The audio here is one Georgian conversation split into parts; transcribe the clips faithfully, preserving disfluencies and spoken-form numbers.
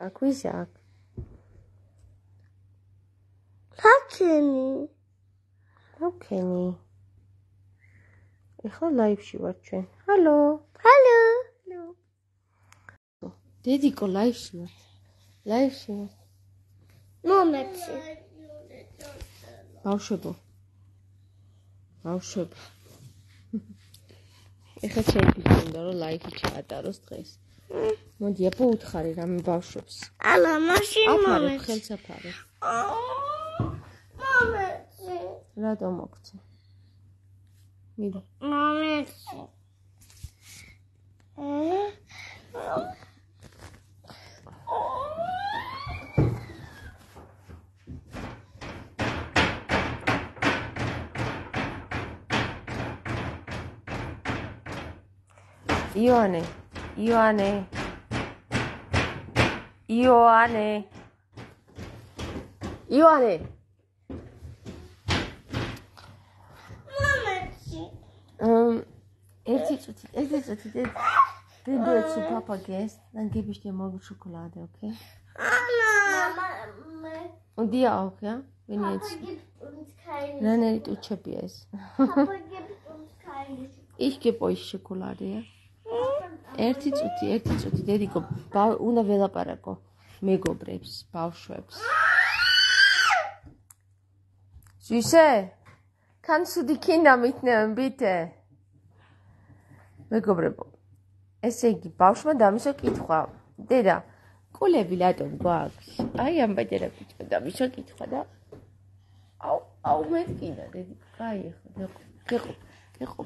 Ak, wizak? Hakeni. Hakeni. Ეხლა live-ში ვარ ჩვენ. Hallo. Hallo. დედიკო live-ში ვარ. Live-ში ვარ. მომეცი. ბავშვებო. ბავშვებო. ეხლა შეიძლება უნდა რომ live-ი ჩაატაროს დღეს. მოდი, აპო უთხარი რამე ბავშვებს. ალა, მაშინ მომეცი. აფარე, ხელს აფარე. მომეცი. რატო მოგცე? მიდა. მომეცი. Ioane, Ioane, Ioane, Ioane. მომეცი. Um, ერთი წუთი, ერთი წუთი, then do it to Papa guest, dann gebe ich dir morgen Schokolade, okay? Mama, Und dir auch, ja? Wenn Papa jetzt. gibt uns keine. Nein, nein, du Chapies. Papa gibt uns keine. Ich gebe euch Schokolade, ja? ერთი წუთი, ერთი წუთი, დედიკო, უნდა ველაპარაკო მეგობრებს, ბავშვებს. Süße, kannst du die Kinder mitnehmen, bitte? მეგობრებო, ესე იგი, ბავშვმა დამისვა კითხვა. დედა, კულები რატომ გვაქვს? აი ამ ბეჭერა ბიჭმა დამისვა კითხვა და აუ, აუ მეთქინა, დედიკო, კაი ახლა, გეყო, გეყო.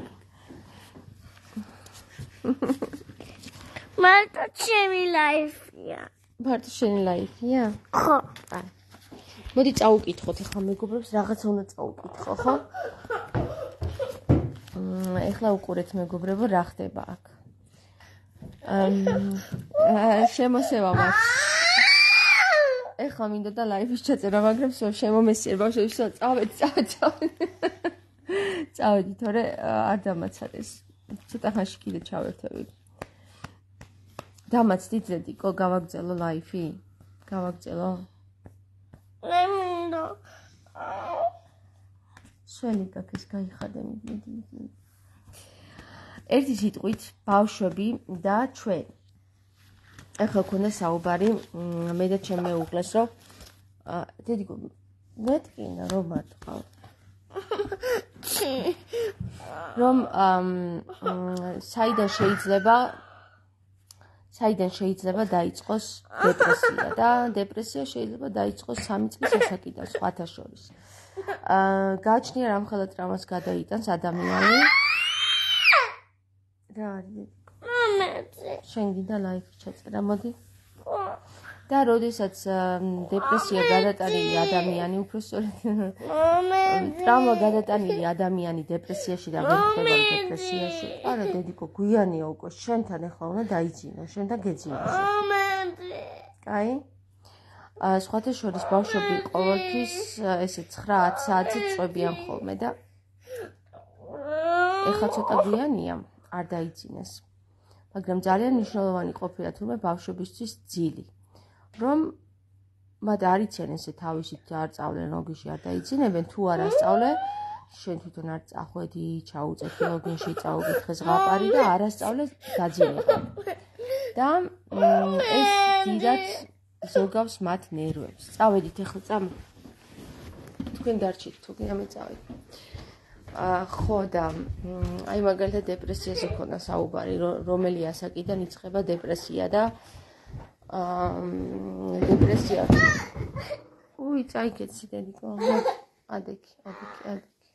მარტო ჩემი ლაიფია. მარტო შენი ლაიფია? ხო. აი. მოდი წაუკითხოთ ახლა მეგობრებს, რაღაცა უნდა წაუკითხო, ხო? მ ეხლა უყურეთ მეგობრებო, რა ხდება აქ. აა შემოსევა მაქვს. ეხლა მინდა და ლაიფის ჩაწერა, მაგრამ შემომესიერ ბავშვებს, წავედი, წავედი, წავედი. წავედი, თორე არ დამაცადეს. ცოტა ხანში კიდე ჩავერთები. დამაცდით ზედიკო, გავაგზელო ლაიფი? გავაგზელო? მე მინდა. სველი გაქეს გაიხადე მიდი. ერთი სიტყვით ბავშვები და ჩვენ. ეხლა ქონდა საუბარი, მე და ჩემ მეუღლეს, რომ დედიკო, მეთქინა რომ მარტყავ. რომ საიდან შეიძლება საიდან შეიძლება დაიწყოს დეპრესია და დეპრესია შეიძლება დაიწყოს სამი წლის ასაკიდან სხვათა შორის. აა გააჩნია რამხელა ტრავმას გადაიტანს ადამიანი. რა არის? მომეცი. შენ გინდა ლაიფი ჩაწერა, მოდი. და როდესაც დეპრესია გადატანილი ადამიანი უბრალოდ ტრავმა გადატანილი ადამიანი დეპრესიაში და ვერ ხდება დეპრესიაში. არა დედიკო, გვიანია უკვე, შენთან ახლა უნდა დაიძინო, შენთან გეძინო. მომეცი. კაი? აა სხვათა შორის ბავშვები ყოველთვის ესე ცხრა ათი საათი წვებიან ხოლმე და ეხლა ცოტა გვიანია, არ დაიძინეს. მაგრამ ძალიან მნიშვნელოვანი ყოფილა თურმე ბავშვებისთვის ძილი. რომ მათ არ იციან ესე თავისით არ წავლენ ლოგინში არ დაიძინებენ, თუ არ ასწავლე, შენ თვითონ არ წახვედი, ჩაუწეთი ლოგინში, წაუკითხე ზღაპარი და არ ასწავლე დაძინება. და ეს დიდად ზოგავს მათ ნერვებს. წავედით ახლა წამ. თქვენ დარჩით, თუ კი ამე წავედი. აა ხო და აი მაგალითად დეპრესიაზე ქონა საუბარი, რომელი ასაკიდან იწყება დეპრესია და აა დეპრესია. უი, წაიგეცი დედიკო. ადექი, ადექი, ადექი.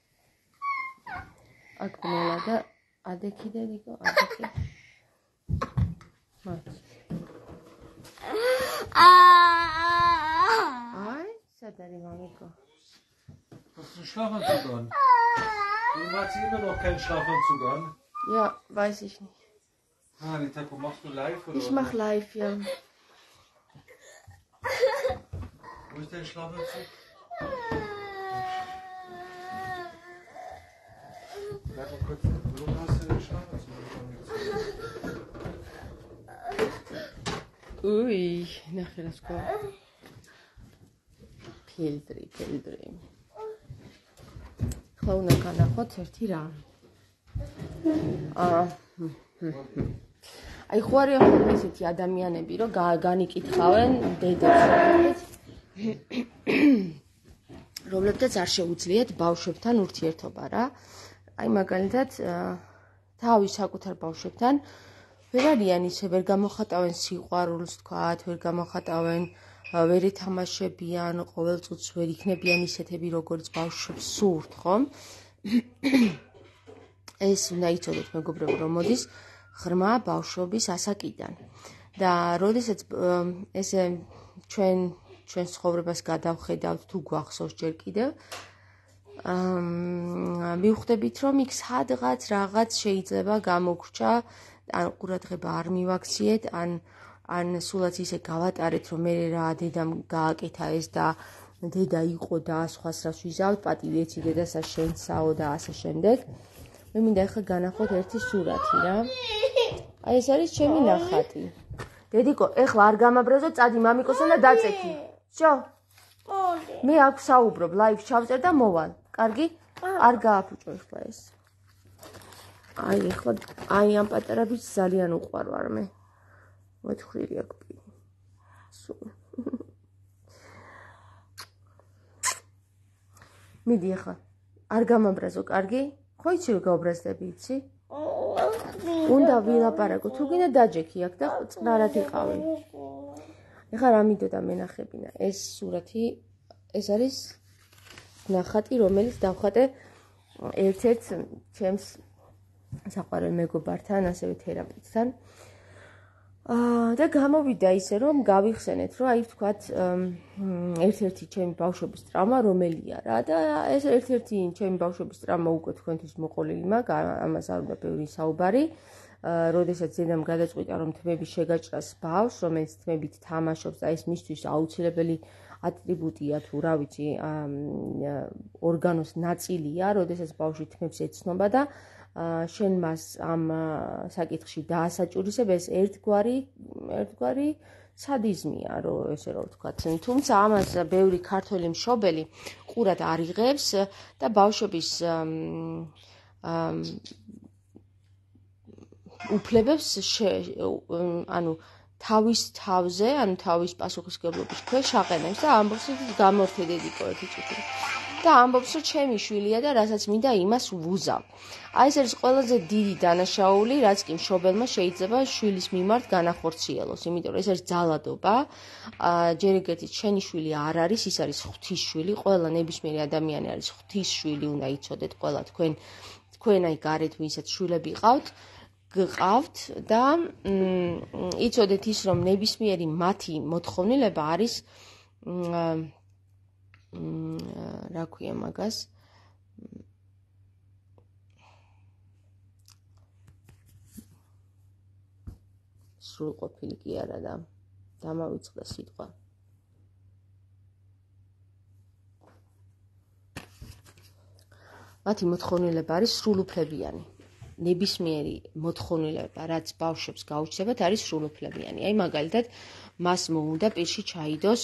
აქ მელა და ადექი დედიკო, ადექი. მათ. აი, seit er die Mami Hast du einen Schlafanzug an? Du hast immer noch keinen Schlafanzug an? Ja, weiß ich nicht. Ah, Nitako, machst du live oder? Ich mach live, ja. Wo ist dein Schlafanzug? Bleib mal kurz. Wo hast du den Schlafanzug? უი, ნახე რა სკო. ფილტრი, ფილტრი. ხო უნდა განახოთ ერთი რამ. აა აი ხო არის ხოლმე ესეთი ადამიანები, რომ განიკითხავენ დედებს, რომლებთაც არ შეუძლიათ ბავშვებთან ურთიერთობა რა. აი მაგალითად თავის საკუთარ ბავშვებთან ვერ არიან ისე, ვერ გამოხატავენ სიყვარულს, თქვათ, ვერ გამოხატავენ, ვერ ეთამაშებიან, ყოველწუთს ვერ იქნებიან ისეთები, როგორც ბავშვებს სურთ, ხომ? ეს უნდა იცოდეთ, მეგობრებო, რომ მოდის ღრმა ბავშვობის ასაკიდან. და როდესაც ესე ჩვენ ჩვენ ცხოვრებას გადავხედავთ, თუ გვახსოვს ჯერ კიდევ, აა მივხვდებით, რომ იქ სადღაც რაღაც შეიძლება გამოგრჩა, ან ყურადღება არ მივაქციეთ, ან ან სულაც ისე გავატარეთ, რომ მე რა დედამ გააკეთა ეს და დედა იყო და სხვას რას ვიზავთ, პატივი ეცი დედასა შენსაო და ასე შემდეგ. მე მინდა ახლა განახოთ ერთი სურათი რა. აი ეს არის ჩემი ნახატი. დედიკო, ეხლა არ გამაბრაზო, წადი მამიკოსთან და დაწექი. შო? მე აქ საუბრობ, ლაივს ჩავწერ და მოვალ. კარგი? არ გააფუჭო ეხლა ეს. აი ეხლა აი ამ პატარა ბიჭს ძალიან უყვარვარ მე. მოთხრილი აქ პირი. სულ. მიდი ახლა. არ გამაბრაზო, კარგი? ხო იცი რომ გაუბრაზდები, იცი? უნდა ვილაპარაკო, თუ გინდა დაჯექი აქ და წყნარად იყავი. ეხლა რა მინდოდა მენახებინა? ეს სურათი, ეს არის ნახატი, რომელიც დავხატე ერთ-ერთ ჩემს საყვარელ მეგობართან, ასევე თერაპევტთან. აა და გამოვიდა ისე, რომ გავიხსენეთ, რომ აი ვთქვათ, ერთ-ერთი ჩემი ბავშვობის ტრაუმა რომელია რა და ეს ერთ-ერთი ჩემი ბავშვობის ტრაუმა უკვე თქვენთვის მოყოლილი მაქვს, ამას არ უნდა ბევრი საუბარი. აა როდესაც დედამ გადაწყვიტა, რომ თმები შეგაჭრას ბავშვს, რომელიც თმებით თამაშობს და ეს მისთვის აუცილებელი ატრიბუტია თუ რა ვიცი, ორგანოს ნაწილია, როდესაც ბავშვი თმებს ეცნობა და შენ მას ამ საკითხში დაასაჭურისებ, ეს ერთგვარი ერთგვარი სადიზმია, რომ ესე რომ ვთქვათ. თუმცა ამას ბევრი ქართველი მშობელი ყურად არ იღებს და ბავშვების უფლებებს ანუ თავის თავზე, ანუ თავის პასუხისმგებლობის ქვეშ აყენებს და ამბობს, რომ გამორთე დედიკო ერთი წუთი. და ამბობს, რომ ჩემი შვილია და რასაც მინდა იმას ვუზავ. აი ეს არის ყველაზე დიდი დანაშაული, რაც კი მშობელმა შეიძლება შვილის მიმართ განახორციელოს, იმიტომ რომ ეს არის ძალადობა. ჯერ ეგერთით შენი შვილი არ არის, ის არის ღვთის შვილი, ყველა ნებისმიერი ადამიანი არის ღვთის შვილი, უნდა იცოდეთ ყველა თქვენ თქვენ აი გარეთ ვისაც შვილები ყავთ. გყავთ და იცოდეთ ის, რომ ნებისმიერი მათი მოთხოვნილება არის რა ქვია მაგას სრულყოფილი კი არა და დამავიწყდა სიტყვა. მათი მოთხოვნილება არის სრულუფლებიანი. ნებისმიერი მოთხოვნილება, რაც ბავშვებს გაუჩნდებათ, არის სრულუფლებიანი. აი მაგალითად, მას მოუნდა პირში ჩაიდოს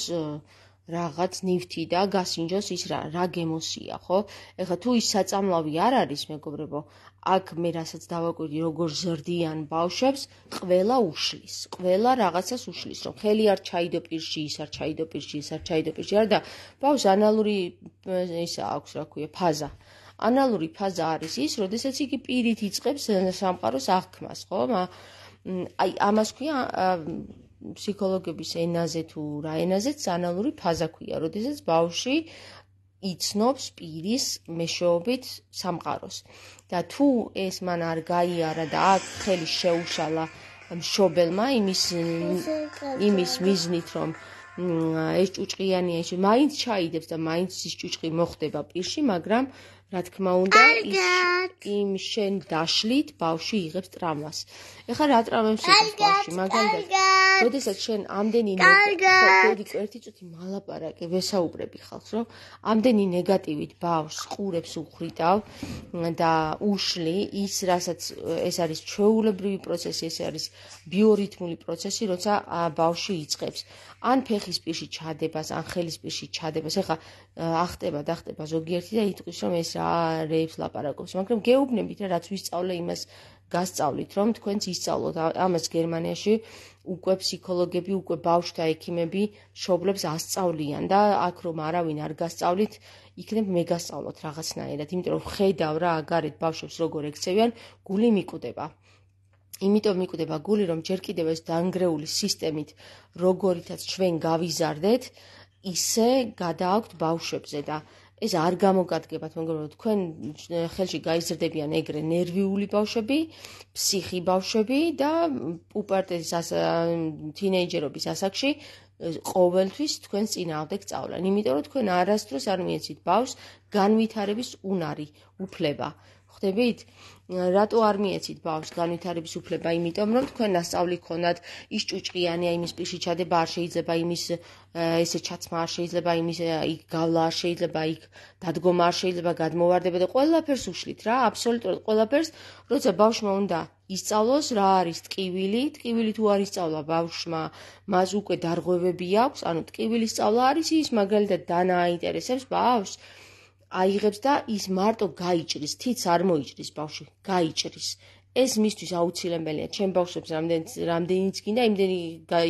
რაღაც ნივთი და გასინჯოს ის რა, რა გემოსია, ხო? ეხლა თუ ის საწამლავი არ არის, მეგობრებო, აქ მე რასაც დავაკვირდი, როგორ ზრდიან ბავშვებს, ყველა უშლის, ყველა რაღაცას უშლის, რომ ხელი არ ჩაიდო პირში, ის არ ჩაიდო პირში, ის არ ჩაიდო პირში, არა და ბავშვს ანალური ისა აქვს, რა ქვია, ფაზა. ანალური ფაზა არის ის, როდესაც იგი პირით იწყებს სამყაროს აღქმას, ხო? აი ამას ქვია ფსიქოლოგების ენაზე თუ რა ენაზეც ანალური ფაზა ქვია, როდესაც ბავშვი იცნობს პირის მეშვეობით სამყაროს. და თუ ეს მან არ გაიარა და აქ ხელი შეუშალა მშობელმა იმის იმის მიზნით, რომ ეს ჭუჭყიანია, ეს მაინც ჩაიდებს და მაინც ის ჭუჭყი მოხდება პირში, მაგრამ რა თქმა უნდა, იმ შენ დაშლით ბავშვი იღებს ტრამვას. ეხლა რა ტრამვებს იღებს ბავშვი? მაგალითად, როდესაც შენ ამდენი ნეგატივით ერთი წუთი მალაპარაკე, ვესაუბრები ხალხს, რომ ამდენი ნეგატივით ბავშვს ყურებს უხრიტავ და უშლი ის, რასაც ეს არის ჩვეულებრივი პროცესი, ეს არის ბიორითმული პროცესი, როცა ბავშვი იწყებს ან ფეხის პირში ჩადებას, ან ხელის პირში ჩადებას. ეხლა ახტება და ხტება ზოგიერთი და იტყვის, რომ ეს რა რეებს ლაპარაკობს, მაგრამ გეუბნებით რა, რაც ვისწავლე, იმას გასწავლით, რომ თქვენც ისწავლოთ. ამას გერმანიაში უკვე ფსიქოლოგები, უკვე ბავშვთა ექიმები მშობლებს ასწავლიან და აქ რომ არავინ არ გასწავლით, იქნებ მე გასწავლოთ რაღაცნაირად, იმიტომ რომ ხედავ რა გარეთ ბავშვებს როგორ ექცევიან, გული მიკვდება. იმიტომ მიკვდება გული, რომ ჯერ კიდევ ეს დანგრეული სისტემით, როგორითაც ჩვენ გავიზარდეთ, ისე გადააქვთ ბავშვებზე და ეს არ გამოგადგებათ, მაგრამ თქვენ ხელში გაიზრდებიან ეგრე ნერვიული ბავშვები, ფსიხი ბავშვები და პუპერტეთის თინეიჯერობის ასაკში ყოველთვის თქვენს წინააღმდეგ სწავლენ. იმიტომ რომ თქვენ არასდროს არ მიეცით ბავშვს განვითარების უნარი, უფლება. ხვდებით? რატო არ მიეცით ბავშვს განვითარების უფლება? იმიტომ რომ თქვენ ასწავლი ქონათ, ის ჭუჭყიანია, იმის პირში ჩადება არ შეიძლება, იმის ესე ჩაცმა არ შეიძლება, იმის იქ გავლა არ შეიძლება, იქ დადგომა არ შეიძლება, გადმოვარდება და ყველაფერს უშლით რა, აბსოლუტურად ყველაფერს, როცა ბავშვმა უნდა ისწავლოს რა არის ტკივილი, ტკივილი თუ არ ისწავლა ბავშვმა, მას უკვე დარღვევები აქვს, ანუ ტკივილის სწავლა არის ის, მაგალითად დანა აინტერესებს ბავშვს, აიღებს და ის მარტო გაიჭრის, თიც არ მოიჭრის ბავშვი, გაიჭრის. ეს მისთვის აუცილებელია, ჩემ ბავშვებს რამდენიც გინდა,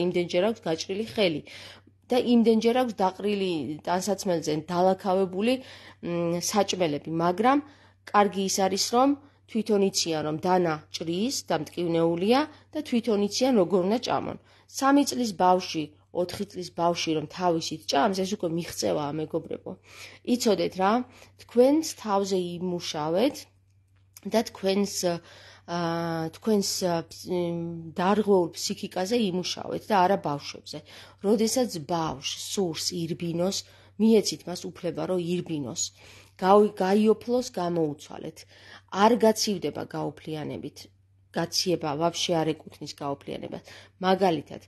იმდენჯერ აქვს გაჭრილი ხელი და იმდენჯერ აქვს დაყრილი ტანსაცმელზე დალაქავებული საჭმელები, მაგრამ კარგი ის არის, რომ თვითონ იციან, რომ დანა ჭრის და მტკივნეულია და თვითონ იციან, როგორ უნდა ჭამონ. სამი წლის ბავშვი, ოთხი წლის ბავშვი რომ თავისით ჭამს, ეს უკვე მიღწევაა, მეგობრებო. იცოდეთ რა, თქვენს თავზე იმუშავეთ და თქვენს თქვენს დარღვეულ ფსიქიკაზე იმუშავეთ და არა ბავშვებზე. როდესაც ბავშვს სურს ირბინოს, მიეცით მას უფლება, რომ ირბინოს. გაიოფლოს, გამოუცვალეთ. არ გაცივდება გაუფლიანებით. გაციება ვაფშე არ ეკუთვნის გაუფლიანებას. მაგალითად,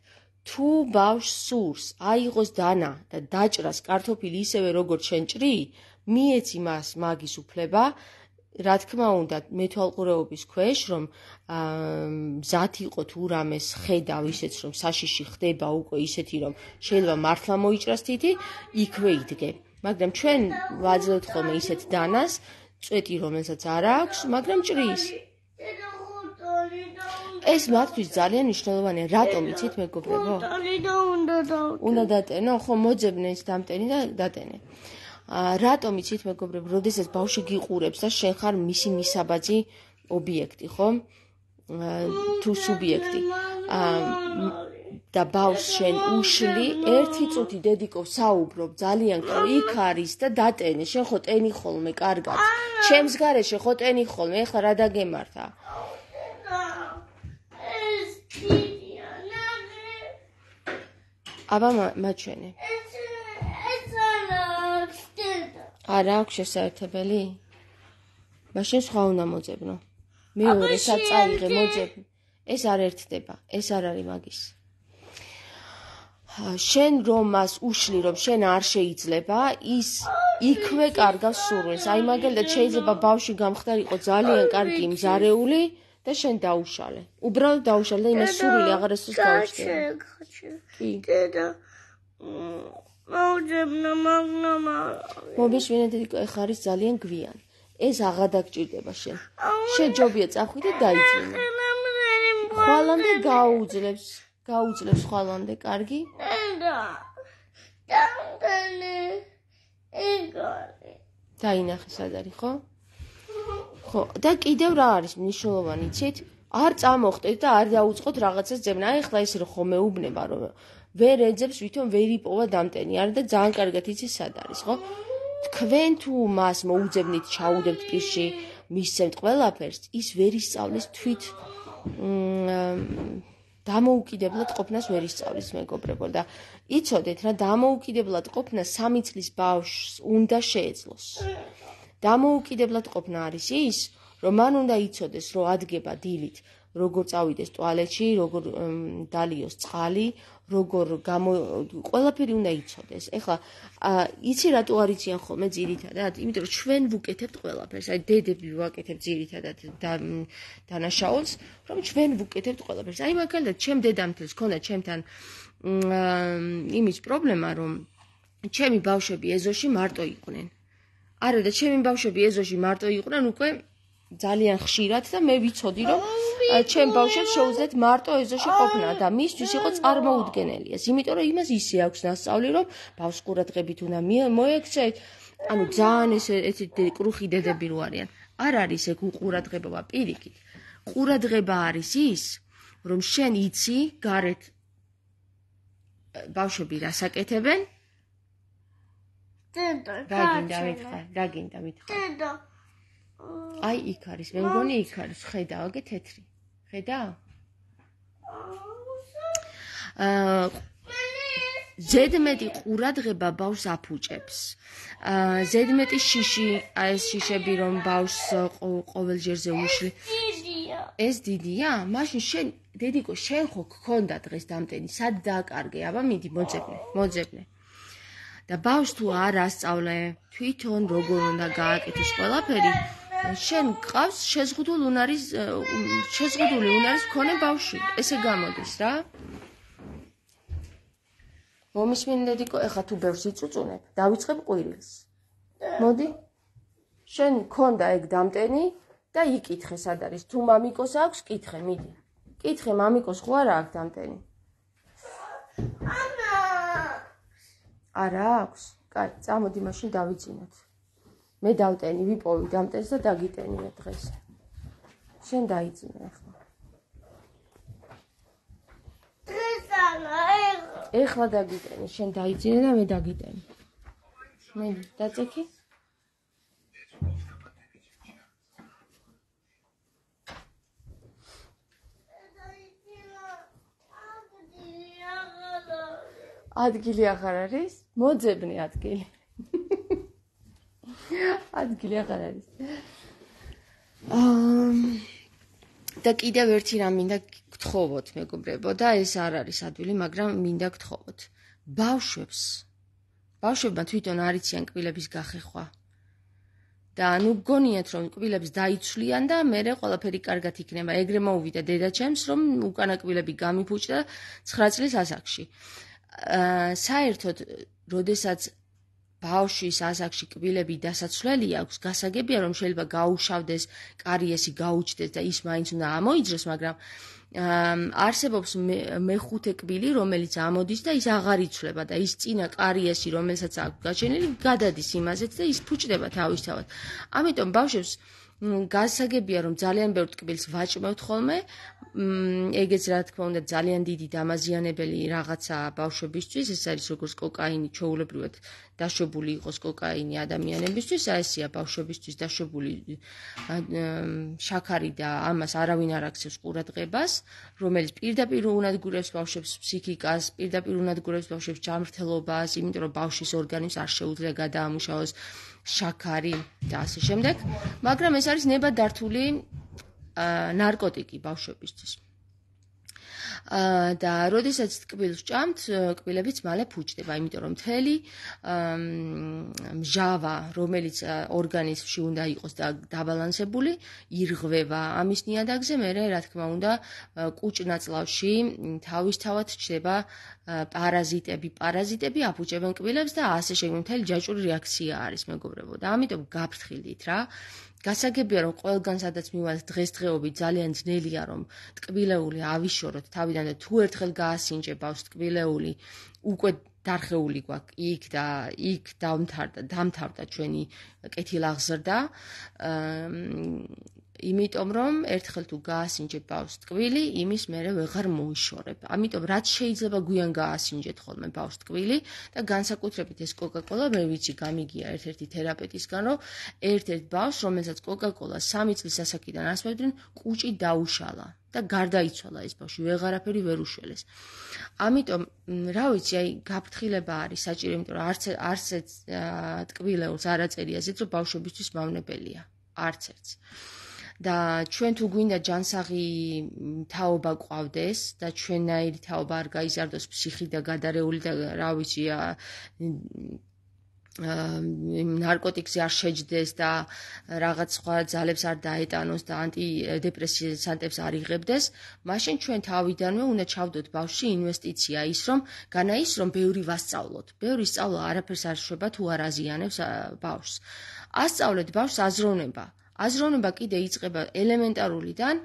თუ ბავშვს სურს აიღოს დანა და დაჭრას კარტოფილი ისევე როგორც შენ ჭრი, მიეცი მას მაგის უფლება, რა თქმა უნდა, მეთვალყურეობის ქვეშ, რომ მზად იყო თუ რამეს ხედავ ისეც, რომ საშიში ხდება უკვე ისეთი, რომ შეიძლება მართლა მოიჭრას თითი, იქვე იდგე. მაგრამ ჩვენ ვაძლევთ ხოლმე ისეთ დანას, წვეტი რომელსაც არ აქვს, მაგრამ ჭრის. ეს მათთვის ძალიან მნიშვნელოვანია. რატომ იცით, მეგობრებო? უნდა დატენო, ხო, მოძებნე ის დამტენი და დატენე. რატომ იცით, მეგობრებო, როდესაც ბავშვი გიყურებს და შენ ხარ მისი მისაბაძი ობიექტი, ხო? თუ სუბიექტი. და ბავშვს შენ უშლი, ერთი წუთი დედიკով საუბრობ, ძალიან კარგი, იქ არის და დატენე, შენ ხო ტენი ხოლმე, კარგად. ჩემს გარეშე ხო ტენი ხოლმე, ეხლა რა დაგემართა? აბა მაჩვენე. არა აქვს შესაერთებელი? მაშინ სხვა უნდა მოძებნო. მეორესაც წაიღე მოძებნ. ეს არ ერთდება, ეს არ არის მაგის. შენ რომ მას უშლი, რომ შენ არ შეიძლება, ის იქვე კარგავს სურვილს. აი მაგალითად შეიძლება ბავშვი გამხდარიყო ძალიან კარგი მზარეული და შენ დაუშალე. უბრალოდ დაუშალე და იმას სურვილი აღარასდროს გაუჩნდა. კი. დედა. მოუძებნა მაგნამა. მომიშვენე დედიკო, ეხლა არის ძალიან გვიანი. ეს აღარ დაგჭირდება შენ. შეჯობია წახვიდე და დაიძინე. ხვალამდე გაუძლებს, გაუძლებს ხვალამდე, კარგი? დედა. დამტენე. ეგარი. დაინახე სად არის, ხო? ხო, და კიდევ რა არის მნიშვნელოვანი, იცით? არ წამოხტეთ და არ დაუწყოთ რაღაცას ძებნა. აი ახლა ეს რომ ხომ მეუბნება, რომ ვერ ეძებს, ვითომ ვერ იპოვა დამტენი. არა და ძალიან კარგად იცის სად არის, ხო? თქვენ თუ მას მოუძებნით, ჩაუდებთ პირში, მისცემთ ყველაფერს, ის ვერ ისწავლის თვით დამოუკიდებლად ყოფნას ვერ ისწავლის, მეგობრებო და იცოდეთ რა, დამოუკიდებლად ყოფნა სამი წლის ბავშვს უნდა შეეძლოს. დამოუკიდებლად ყოფნა არის ის, რომ მან უნდა იცოდეს, რომ ადგება დილით, როგორ წავიდეს ტუალეტში, როგორ დალიოს წყალი, როგორ გამო ყველაფერი უნდა იცოდეს. ეხლა იცი რატო არ იციან ხოლმე ძირითადად? იმიტომ რომ ჩვენ ვუკეთებთ ყველაფერს. აი დედები ვაკეთებთ ძირითადად დანაშაულს, რომ ჩვენ ვუკეთებთ ყველაფერს. აი მაგალითად, ჩემ დედამთილს ქონდა ჩემთან იმის პრობლემა, რომ ჩემი ბავშვები ეზოში მარტო იყვნენ. არა და ჩემი ბავშვები ეზოში მარტო იყვნენ უკვე ძალიან ხშირად და მე ვიცოდი რომ ჩემ ბავშვებს შეუძლიათ მარტო ეზოში ყოფნა და მისთვის იყო წარმოუდგენელია. იმიტომ რომ იმას ისე აქვს ნასწავლი რომ ბავშვს ყურადღებით უნდა მოექცეთ. ანუ ძალიან ეს ესეთი კრუხი დედები რო არიან. არ არის ეგ უყურადღებობა პირიქით. ყურადღება არის ის, რომ შენ იცი გარეთ ბავშვები რას აკეთებენ? დედა, რა გინდა მითხარ? რა გინდა მითხარ? დედა. აი იქ არის, მე მგონი იქ არის, ხედა, აგე თეთრი. ხედა? აა ზედმეტი ყურადღება ბავშვს აფუჭებს. აა ზედმეტი შიში, აი ეს შიშები რომ ბავშვს ყოველ ჯერზე უშლი. დიდია. ეს დიდია? მაშინ შენ დედიკო, შენ ხო გქონდა დღეს დამტენი, სად დააკარგე? აბა მიდი მოძებნე, მოძებნე. და ბავშვს თუ არ ასწავლე, თვითონ როგორ უნდა გააკეთოს ყველაფერი, შენ გყავს შეზღუდული უნარის შეზღუდული უნარის მქონე ბავშვი. ესე გამოდის რა. მომისმინე დედიკო, ეხლა თუ ბევრს იწუწუნებ, დავიწყებ ყვირილს. მოდი. შენ გქონდა ეგ დამტენი და იკითხე სად არის. თუ მამიკოს აქვს, კითხე, მიდი. კითხე, მამიკოს ხო არა აქვს დამტენი? ამა. არა აქვს? კაი, წამოდი მაშინ დავიძინოთ. მე დავტენი, ვიპოვი დამტენს და დაგიტენია დღეს. შენ დაიძინე ახლა. დღეს არა, ეხლა. ეხლა დაგიტენი, შენ დაიძინე და მე დაგიტენი. მე დაწექი? ადგილი აღარ არის? მოძებნე ადგილი. ადგილი აღარ არის. აა და კიდევ ერთი რამ მინდა გთხოვოთ, მეგობრებო, და ეს არ არის ადვილი, მაგრამ მინდა გთხოვოთ. ბავშვებს, ბავშვებმა თვითონ არ იციან კბილების გახეხვა. და ანუ გგონიათ რომ კბილებს დაიცვლიან და მერე ყველაფერი კარგად იქნება. ეგრე მოუვიდა დედაჩემს, რომ უკანა კბილები გამიფუჭდა ცხრა წლის ასაკში. აა საერთოდ, როდესაც ბავშვის ასაკში კბილები დასაცვლელი აქვს, გასაგებია რომ შეიძლება გაუშავდეს, კარიესი გაუჩნდეს და ის მაინც უნდა ამოიძროს, მაგრამ არსებობს მეხუთე კბილი, რომელიც ამოდის და ის აღარ იცვლება და ის წინა კარიესი, რომელსაც აქვს გაჩენილი, გადადის იმაზეც და ის ფუჭდება თავისთავად. ამიტომ ბავშვებს გასაგებია რომ ძალიან ბევრ ტკბილს ვაჭმევთ ხოლმე, ეგეც რა თქმა უნდა ძალიან დიდი დამაზიანებელი რაღაცა ბავშვებისთვის, ეს არის როგორც კოკაინი, ჩვეულებრივად დაშვებული იყოს კოკაინი ადამიანებისთვის, ესეა ბავშვებისთვის დაშვებული შაქარი და ამას არავინ არ აქცევს ყურადღებას, რომელიც პირდაპირ უნადგურებს ბავშვებს ფსიქიკას, პირდაპირ უნადგურებს ბავშვებს ჯანმრთელობას, იმიტომ რომ ბავშვის ორგანიზმს არ შეუძლია გადაამუშავოს შაქარი და ასე შემდეგ, მაგრამ ეს არის ნებადართული ნარკოტიკი ბავშვებისთვის. და როდესაც ტკბილს ჭამთ, კბილებიც მალე ფუჭდება, იმიტომ რომ მთელი მჟავა, რომელიც ორგანიზმში უნდა იყოს დაბალანსებული, ირღვევა. ამის ნიადაგზე მერე, რა თქმა უნდა, კუჭ-ნაწლავში თავისთავად ჩნდება პარაზიტები, პარაზიტები აფუჭებენ კბილებს და ასე შეგვიძლია მთელი ჯაჭვური რეაქცია არის, მეგობრებო. და ამიტომ გაფრთხილდით რა. გასაგებია რომ ყველგან სადაც მივალთ დღესდღეობით ძალიან ძნელია რომ ტკბილეული ავიშოროთ თავიდან და თუ ერთხელ გაასინჯე ბავშვს ტკბილეული უკვე დარხეული გვაქვს იქ და იქ დამთავრდა დამთავრდა ჩვენი კეთილაღზრდა იმიტომ რომ ერთხელ თუ გაასინჯებ ბავშვს ტკბილი, იმის მერე ვეღარ მოიშორებ. ამიტომ რაც შეიძლება გვიან გაასინჯეთ ხოლმე ბავშვს ტკბილი და განსაკუთრებით ეს კოკა-კოლა მე ვიცი გამიგია ერთ-ერთი თერაპევტისგან, რომ ერთ-ერთ ბავშვს, რომელსაც კოკა-კოლა სამი წლის ასაკიდან ასმევდნენ, კუჭი დაუშალა და გარდაიცვალა ეს ბავშვი, ვეღარაფერი ვერ უშველეს. ამიტომ რა ვიცი, აი გაფრთხილება არის საჭირო, იმიტომ რომ არც არც ტკბილეულს არ აწერია ზედ, რომ ბავშვებისთვის მავნებელია, არც ერთს. და ჩვენ თუ გვინდა ჯანსაღი თაობა გვყავდეს და ჩვენნაირი თაობა არ გაიზარდოს ფსიქი და გადარეული და რა ვიცი ნარკოტიკზე არ შეჯდეს და რაღაც სხვა ძალებს არ დაეტანოს და ანტიდეპრესანტებს არ იღებდეს, მაშინ ჩვენ თავიდანვე უნდა ჩავდოთ ბავშვში ინვესტიცია ის, რომ განა ის, რომ ბევრი ვასწავლოთ. ბევრი სწავლა არაფერს არ შვება თუ არ აზიანებს ბავშვს. ასწავლეთ ბავშვს აზროვნება. აზროვნება კიდე იწყება ელემენტარულიდან,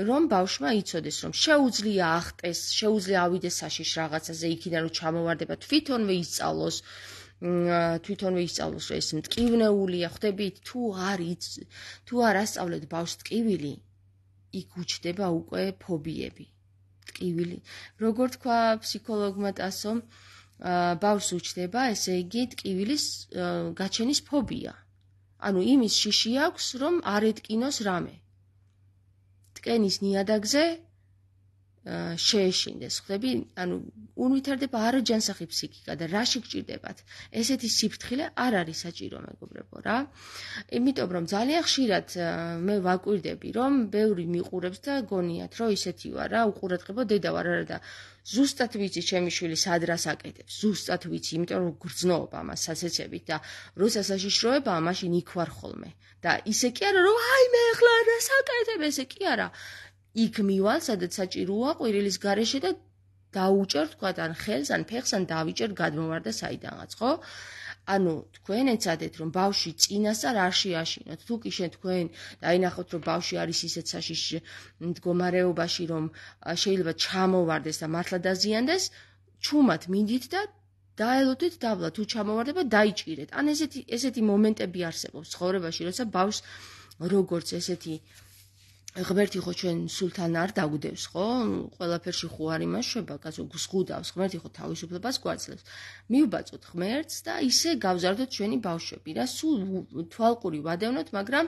რომ ბავშვმა იცოდეს, რომ შეუძლია ახტეს, შეუძლია ავიდეს საშიში რაღაცაზე, იქიდან რომ ჩამოვარდება, თვითონვე ისწავლოს, თვითონვე ისწავლოს, რომ ეს მტკივნეულია, ხვდებით, თუ არ თუ არ ასწავლეთ ბავშვს ტკივილი, იქ უჩნდება უკვე ფობიები. ტკივილი. როგორ თქვა ფსიქოლოგმა ტასომ, ბავშვს უჩნდება, ესე იგი, ტკივილის გაჩენის ფობია. ანუ იმის შიში აქვს, რომ არ ეტკინოს რამე. ტკენის ნიადაგზე შეეშინდეს, ხვდები? ანუ უნვითარდება არაჯანსაღი ფსიქიკა და რაში გჭირდებათ? ესეთი სიფრთხილე არ არის საჭირო, მეგობრებო, რა. იმიტომ რომ ძალიან ხშირად მე ვაკვირდები, რომ ბევრი მიყურებს და გონიათ, რომ ისეთი ვარ, რა, უყურადღებო დედა ვარ, არა და ზუსტად ვიცი ჩემი შვილი სად რას აკეთებს, ზუსტად ვიცი, იმიტომ რომ გრძნობ ამას სასეცებით და როცა საშიშროებაა, მაშინ იქ ვარ ხოლმე. და ისე კი არა, რომ აი მე ახლა რას აკეთებ, ესე კი არა. იქ მივალ, სადაც საჭიროა ყვირილის გარეშე და დაუჭერ თქვათ ან ხელს, ან ფეხს, ან დავიჭერ გადმოვარდა საიდანღაც, ხო? ანუ თქვენ ეცადეთ, რომ ბავშვი წინასწარ არ შეაშინოთ. თუ კი შენ თქვენ დაინახოთ, რომ ბავშვი არის ისეთ საშიში მდგომარეობაში, რომ შეიძლება ჩამოვარდეს და მართლა დაზიანდეს, ჩუმად მინდით და დაელოდეთ დაბლა, თუ ჩამოვარდება, დაიჭირეთ. ან ესეთი ესეთი მომენტები არსებობს ცხოვრებაში, როცა ბავშვს როგორც ესეთი ღმერთი ხო ჩვენ სულთან არ დაგვდევს, ხო? ყველაფერში ხო არ იმაშვება, კაცო გსხუდავს, ღმერთი ხო თავისუფლებას გვაძლევს. მივბაწოთ ღმერთს და ისე გავზარდოთ ჩვენი ბავშვები და სულ თვალყური ვადევნოთ, მაგრამ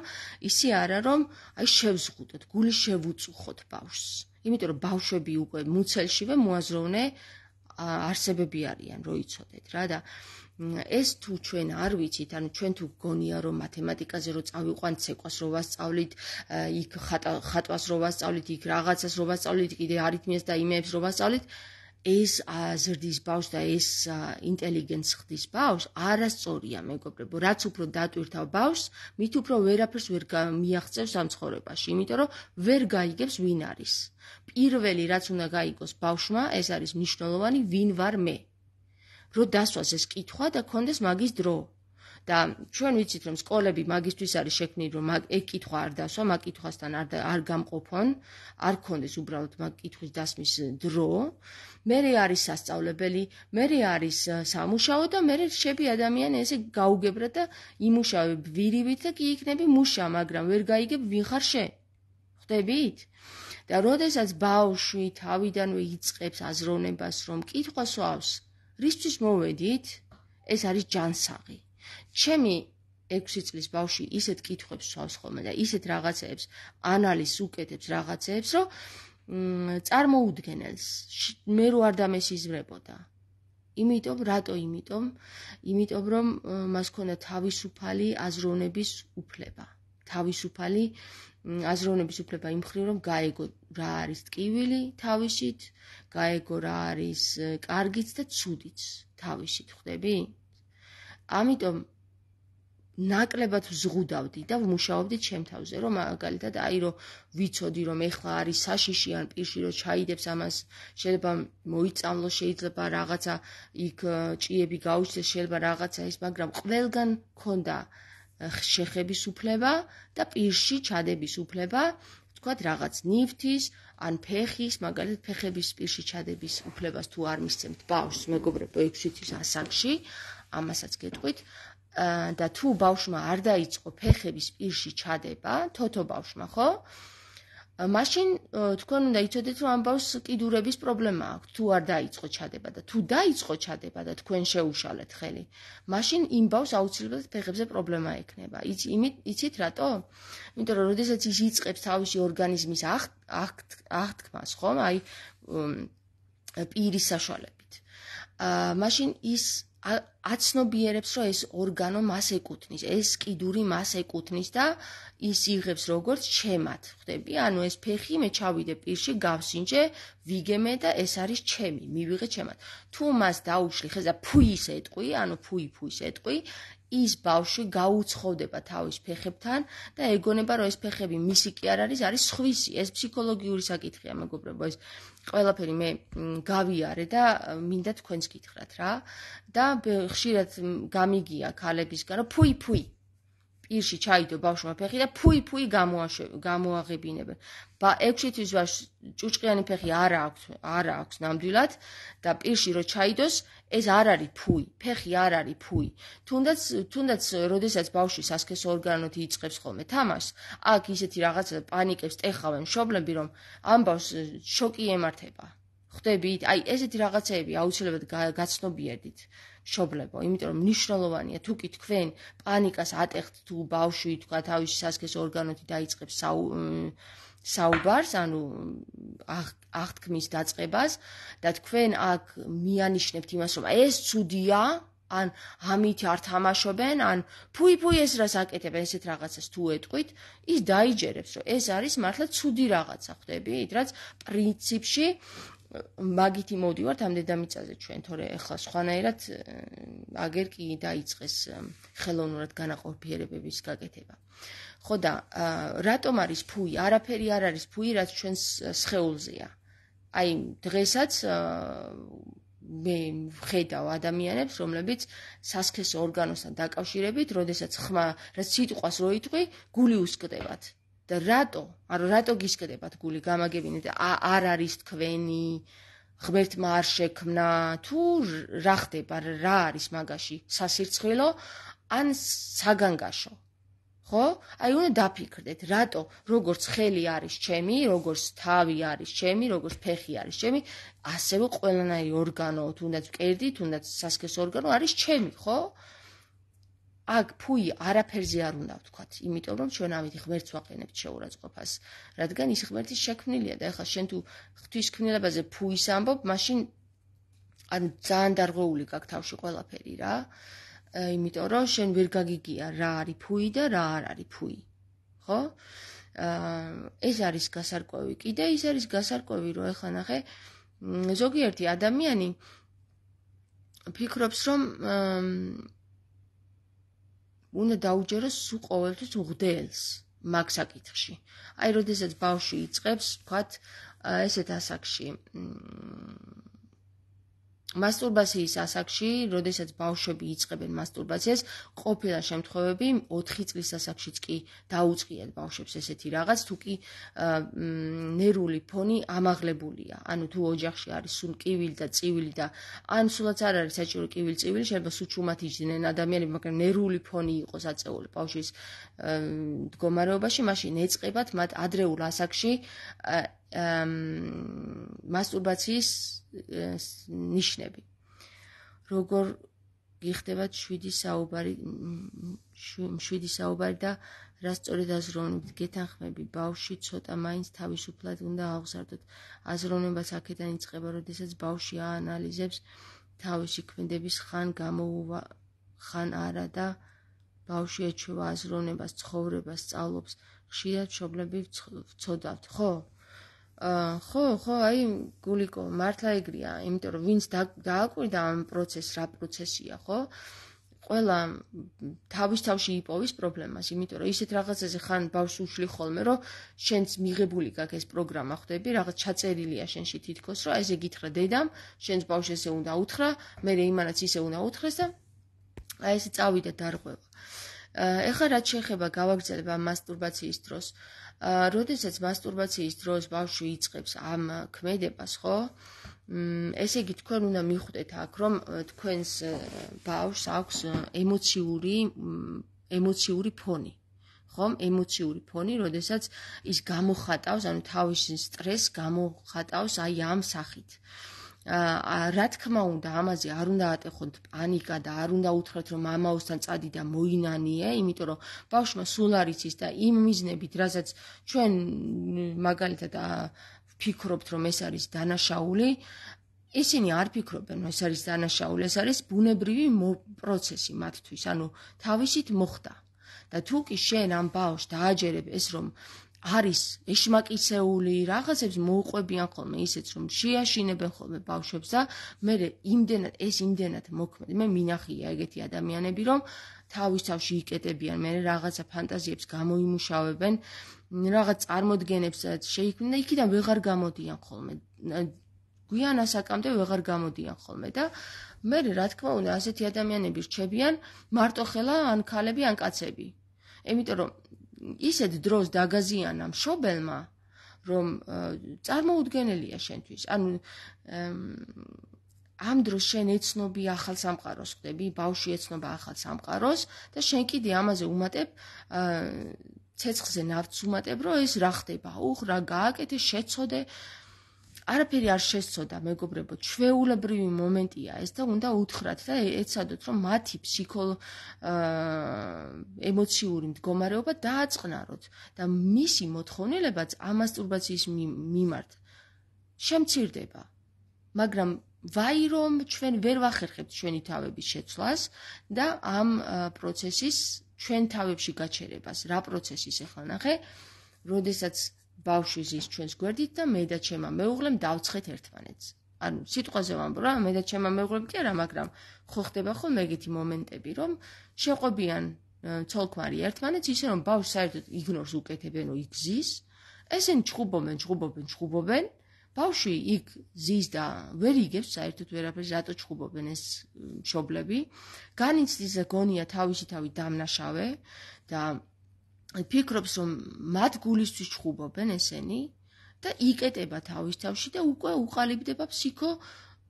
ისე არა, რომ აი შევზღუდოთ, გული შევუწუხოთ ბავშვს. იმიტომ რომ ბავშვები უკვე მუცელშივე მოაზროვნე არსებები არიან, რო იცოდეთ რა და ეს თუ ჩვენ არ ვიცით, ანუ ჩვენ თუ გონია რომ მათემატიკაზე რო წავიყვანთ, ცეკვას რო ვასწავლით, იქ ხატვას რო ვასწავლით, იქ რაღაცას რო ვასწავლით, კიდე არითმიას და იმეებს რო ვასწავლით, ეს ზრდის ბავშვს და ეს ინტელიგენტს ხდის ბავშვს არასწორია, მეგობრებო, რაც უფრო დატვირთავ ბავშვს, მით უფრო ვერაფერს ვერ მიაღწევს ამ ცხოვრებაში, იმიტომ რომ ვერ გაიგებს ვინ არის. პირველი რაც უნდა გაიგოს ბავშვმა, ეს არის მნიშვნელოვანი, ვინ ვარ მე. რო დასვას ეს კითხვა და კონდეს მაგის დრო. და ჩვენ ვიცით, რომ სკოლები მაგისთვის არის შექმნილი, რომ ეგ კითხვა არ დასვა, მაგ კითხვასთან არ არ გამყოფონ, არ კონდეს უბრალოდ მაგ კითხვის დასმის დრო. მერე არის სასწავლებელი, მერე არის სამუშაო და მერე შეbi ადამიანი ესე გაუგებრა და იმუშავებ ვირივით და კი იქნები მუშა, მაგრამ ვერ გაიგებ ვინ ხარ შენ. ხვდებით? და როდესაც ბავშვი თავიდანვე იწყებს აზროვნებას, რომ კითხვას ვავს, რისთვის მოვედით? ეს არის ჯანსაღი. ჩემი ექვსი წლის ბავშვი ისეთ კითხვებს ვავს ხოლმე და ისეთ რაღაცეებს ანალიზს უკეთებს რაღაცეებს, რომ წარმოუდგენელს მე რო არ დამესიზმრებოდა. იმიტომ, რატო იმიტომ? იმიტომ რომ მას ქონდა თავისუფალი აზროვნების უფლება. თავისუფალი აზროვნების უფლება იმ მხრივ, რომ გაეგო რა არის ტკივილი თავისით, გაეგო რა არის კარგიც და ცუდიც თავისით, ხვდები? ამიტომ ნაკლებად ვზღუდავდი და ვმუშაობდი ჩემ თავზე, რომ მაგალითად აი რომ ვიცოდი, რომ ეხლა არის საშიში ან პირში რომ ჩაიდებს ამას, შეიძლება მოიწამლოს, შეიძლება რაღაცა იქ ჭიები გაუჩნდეს, შეიძლება რაღაცა ის, მაგრამ ყველგან მქონდა შეხების უფლება და პირში ჩადების უფლება, თქვათ რაღაც ნივთის, ან ფეხის, მაგალითად ფეხების პირში ჩადების უფლებას თუ არ მისცემთ ბავშვს, მეგობრებო, ექვსი თვის ასაკში, ამასაც გეტყვით, და თუ ბავშვმა არ დაიწყო ფეხების პირში ჩადება, თოთო ბავშვმა, ხო? მაშინ თქვენ უნდა იცოდეთ, რომ ამ ბავშვს კიდურების პრობლემა აქვს, თუ არ დაიწყო ჩადება და თუ დაიწყო ჩადება და თქვენ შეუშალეთ ხელი, მაშინ იმ ბავშვს აუცილებლად ფეხებზე პრობლემა ექნება. იცით რატო? იმიტომ რომ როდესაც ის იწყებს თავისი ორგანიზმის აღთქმას, ხომ? აი პირის საშუალებით. მაშინ ის აცნობიერებს, რომ ეს ორგანო მას ეკუთვნის, ეს კიდური მას ეკუთვნის და ის იღებს როგორც ჩემად, ხვდები? ანუ ეს ფეხი მე ჩავიდე პირში, გავსინჯე, ვიგემე და ეს არის ჩემი, მივიღე ჩემად. თუ მას დაუშლი ხეზე ფუის ეტყვი, ანუ ფუი ფუის ეტყვი, ის ბავშვი გაუცხოვდება თავის ფეხებთან და ეგონება, რომ ეს ფეხები მისი კი არ არის, არის სხვისი. ეს ფსიქოლოგიური საკითხია, მეგობრებო, ეს ყველაფერი მე გავიარე და მინდა თქვენც გითხრათ რა. და ხშირად გამიგია ქალებისგან, რომ ფუი ფუი პირში ჩაიდო ბავშვმა ფეხი და ფუი ფუი გამოაღებინებენ. ექვსი თვის ვარს ჭუჭყიანი ფეხი არ აქვს, არ აქვს ნამდვილად და პირში რო ჩაიდოს, ეს არ არის ფუი, ფეხი არ არის ფუი. თუნდაც თუნდაც როდესაც ბავშვი სასქესო ორგანოთ იწყებს ხოლმე თამაშს, აქ ისეთი რაღაცა პანიკებს ტეხავენ მშობლები, რომ ამ ბავშვს შოკი ემართება. ხვდებით? აი ესეთი რაღაცეები აუცილებლად გაცნობიერდით. მშობლებო, იმიტომ რომ მნიშვნელოვანია თუ კი თქვენ პანიკას ატეხთ თუ ბავშვი თქვა თავისი სასქესო ორგანოთი დაიწყებს საუბარს, ანუ აღთქმის დაწყებას და თქვენ აქ მიანიშნებთ იმას, რომ ეს ცუდია, ან ამით არ თამაშობენ, ან ფუი ფუი ეს რას აკეთებენ, ესეთ რაღაცას თუ ეტყვით, ის დაიჯერებს, რომ ეს არის მართლა ცუდი რაღაცა, ხვდებით? რაც პრინციპში მაგითი მოვდივართ ამ დედამიწაზე ჩვენ, თორე ეხლა სხვანაირად აგერ კი დაიწყეს ხელოვნურად განაყოფიერებების გაკეთება. ხო და რატომ არის ფუი? არაფერი არ არის ფუი, რაც ჩვენს სხეულზეა. აი დღესაც მე ვხედავ ადამიანებს, რომლებიც სასქესო ორგანოსთან დაკავშირებით, როდესაც ხმა, რაც სიტყვას რო იტყვი, გული უსკდებათ. და რატო? ანუ რატო გისკდებათ გული გამაგებინეთ? არ არის თქვენი, ღმერთმა არ შექმნა, თუ რა ხდება, რა არის მაგაში? სასირცხვილო ან საგანგაშო? ხო? აი უნდა დაფიქრდეთ, რატო როგორც ხელი არის ჩემი, როგორც თავი არის ჩემი, როგორც ფეხი არის ჩემი, ასევე ყველანაირი ორგანო, თუნდაც მკერდი, თუნდაც სასქესო ორგანო არის ჩემი, ხო? აქ ფუი არაფერზე არ უნდა ვთქვათ, იმიტომ რომ ჩვენ ამით ღმერთს ვაყენებთ შეურაცხყოფას, რადგან ის ღმერთის შექმნილია და ეხლა შენ თუ ღვთისმკვლელებაზე ფუის ამბობ, მაშინ ანუ ძალიან დარღვეული გაქვს თავში ყველაფერი რა. იმიტომ რომ შენ ვერ გაგიგია რა არის ფუი და რა არ არის ფუი. ხო? ეს არის გასარკვევი. კიდე ის არის გასარკვევი, რომ ეხლა ნახე, ზოგიერთი ადამიანი ფიქრობს, რომ უნდა დაუჯეროს სულ ყოველთვის უღდელს მაგ საკითხში. აი, როდესაც ბავშვი იწყებს, ვთქვათ, ესეთ ასაკში, მასტურბაციის ასაკში, როდესაც ბავშვები იწყებენ მასტურბაციას, ყოფილა შემთხვევები ოთხი წლის ასაკშიც კი დაუწყიათ ბავშვებს ესეთი რაღაც, თუ კი ნერვული ფონი ამაღლებულია. ანუ თუ ოჯახში არის სულ კივილი და წივილი და ან სულაც არ არის საჭირო კივილი წივილი, შეიძლება სულ ჩუმად იჯდნენ ადამიანები, მაგრამ ნერვული ფონი იყოს აწეული ბავშვის მდგომარეობაში, მაშინ ეწყებათ მათ ადრეულ ასაკში მასტურბაციის ნიშნები. როგორ გიხდებათ შვიდი საუბარი, შვიდი საუბარი და რა სწორედ აზროვნებით გეთანხმები, ბავშვი ცოტა მაინც თავისუფლად უნდა აღზარდოთ. აზროვნებას აქედან იწყება, როდესაც ბავშვი აანალიზებს თავისი ქმედების ხან გამოუვა, ხან არა და ბავშვი ეჩვევა აზროვნებას, ცხოვრებას, სწავლობს. ხშირად მშობლები ვცოდავთ, ხო? ხო, ხო, აი, გულიკო, მართლა ეგრეა, იმიტომ რომ ვინც დააკვირდა ამ პროცესს, რა პროცესია, ხო? ყველა თავის თავში იპოვის პრობლემას, იმიტომ რომ ისეთ რაღაცაზე ხან ბავშვს უშლი ხოლმე, რომ შენც მიღებული გაქვს ეს პროგრამა, ხვდები, რაღაც ჩაწერილია შენში თითქოს, რომ ესე გითხრა დედამ, შენს ბავშვს ესე უნდა უთხრა, მე იმანაც ისე უნდა უთხრეს და აი ესე წავიდა დარღვევა. ეხლა რაც შეეხება გავაგრძელებ ამ მასტურბაციის დროს, როდესაც მასტურბაციის დროს ბავშვი იწყებს ამ ქმედებას, ხო? ესე იგი თქვენ უნდა მიხვდეთ აქ, რომ თქვენს ბავშვს აქვს ემოციური ემოციური ფონი. ხომ, ემოციური ფონი, როდესაც ის გამოხატავს, ანუ თავისი სტრესს გამოხატავს აი ამ სახით. აა რა თქმა უნდა, ამაზე არ უნდა ატეხოთ პანიკა და არ უნდა უთხრათ, რომ მამაოსთან წადი და მოინანიე, იმიტომ რომ ბავშვმა სულ არ იცის და იმ მიზნებით, რასაც ჩვენ მაგალითად ფიქრობთ, რომ ეს არის დანაშაული, ისინი არ ფიქრობენ, რომ ეს არის დანაშაული, ეს არის ბუნებრივი პროცესი მათთვის, ანუ თავისით მოხდა. და თუ კი შენ ამ ბავშვს დააჯერებ ეს, რომ არის ეშმაკიცეული, რაღაცებს მოუყვებიან ხოლმე ისეც, რომ შეაშინებენ ხოლმე ბავშვებს და მე იმდენად ეს იმდენად მოქმედ. მე მინახია ეგეთი ადამიანები, რომ თავის თავში იკეტებიან, მე რაღაცა ფანტაზიებს გამოიმუშავებენ, რაღაც წარმოდგენებს შეიქმნიან და იქიდან ვეღარ გამოდიან ხოლმე. გვიან ასაკამდე ვეღარ გამოდიან ხოლმე და მე რა თქმა უნდა ასეთი ადამიანები რჩებიან მარტოხელა ან ქალები ან კაცები. იმიტომ რომ ისეთ დროს დაგაზიანა მშობელმა, რომ წარმოუდგენელია შენთვის. ანუ ამ დროს შენ ეცნობი ახალ სამყაროს ხდები, ბავშვი ეცნობა ახალ სამყაროს და შენ კიდე ამაზე უმატებ ცეცხლზე ნავთს უმატებ, რომ ეს რა ხდება, უხ რა გააკეთე, შეცოდე. არაფერი არ შესწოდა, მეგობრებო, ჩვეულებრივი მომენტია ეს და უნდა უთხრათ და ეცადოთ, რომ მათი ფსიქოლ ემოციური მდგომარეობა დააწყნაროთ და მისი მოთხოვნილებაც ამ მასტურბაციის მიმართ შემცირდება. მაგრამ ვაი რომ ჩვენ ვერ ვახერხებთ ჩვენი თავების შეცვლას და ამ პროცესის ჩვენ თავებში გაჩერებას. რა პროცესის ახლა ნახე, როდესაც ბავშვი ზის ჩვენს გვერდით და მე და ჩემმა მეუღლემ დავცხეთ ერთმანეთს. ანუ სიტყვაზე ვამბობ რა, მე და ჩემმა მეუღლემ კი არა, მაგრამ ხო ხდება ხოლმე ეგეთი მომენტები, რომ შეყვებიან ცოლ-ქმარი ერთმანეთს, ისე რომ ბავშვი საერთოდ იგნორს უკეთებენ, რომ იგზის, ესენი ჩხუბობენ, ჩხუბობენ, ჩხუბობენ, ბავშვი იქ ზის და ვერ იგებს საერთოდ ვერაფერს, რატო ჩხუბობენ ეს მშობლები. განიცდის და გონია თავისი თავი დამნაშავე და ფიქრობს, რომ მათ გულისთვის ჩხუბობენ ესენი და იკეტება თავის თავში და უკვე უყალიბდება ფსიქო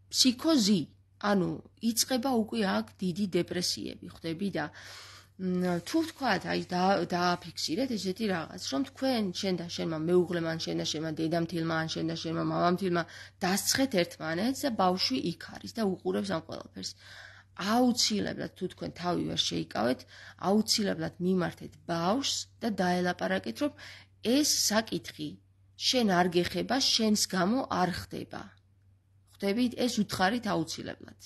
ფსიქოზი. ანუ იწყება უკვე აქ დიდი დეპრესიები, ხვდები და თუ ვთქვათ, აი დააფიქსირეთ ესეთი რაღაც, რომ თქვენ შენ და შენმა მეუღლემ ან შენ და შენმა დედამთილმა ან შენ და შენმა მამამთილმა დასცხეთ ერთმანეთს და ბავშვი იქ არის და უყურებს ამ ყველაფერს. აუცილებლად თუ თქვენ თავი ვერ შეიკავეთ, აუცილებლად მიმართეთ ბავშვს და დაელაპარაკეთ, რომ ეს საკითხი შენ არ გეხება, შენს გამო არ ხდება. ხვდებით, ეს უთხარით აუცილებლად.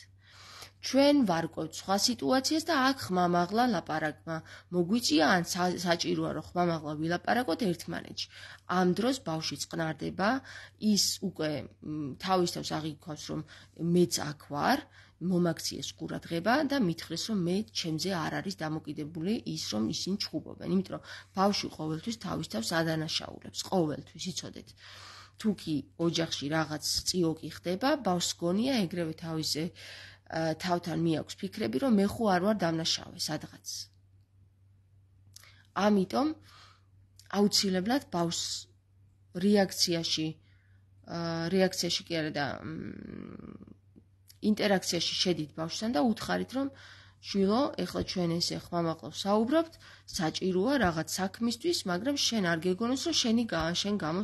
ჩვენ ვარკვევთ სხვა სიტუაციას და აქ ხმამაღლა ლაპარაკმა მოგვიწია ან საჭიროა რომ ხმამაღლა ვილაპარაკოთ ერთმანეთში. ამ დროს ბავშვი წყნარდება, ის უკვე თავის თავს აღიქვავს, რომ მეც აქ ვარ, მომაქციეს ყურადღება და მითხრეს, რომ მე ჩემზე არ არის დამოკიდებული ის, რომ ისინი ჩხუბობენ. იმიტომ რომ ბავშვი ყოველთვის თავის თავს ადანაშაულებს, ყოველთვის იცოდეთ. თუ კი ოჯახში რაღაც წიოკი ხდება, ბავშვს გონია ეგრევე თავისზე თავთან მიაქვს ფიქრები, რომ მე ხო არ ვარ დამნაშავე სადღაც. ამიტომ აუცილებლად ბავშვს რეაქციაში რეაქციაში კი არა და ინტერაქციაში შედით ბავშვთან და უთხარით, რომ შვილო, ეხლა ჩვენ ესე ხმამაღლა ვსაუბრობთ, საჭიროა რაღაც საქმისთვის, მაგრამ შენ არ გეგონოს, რომ შენი შენ გამო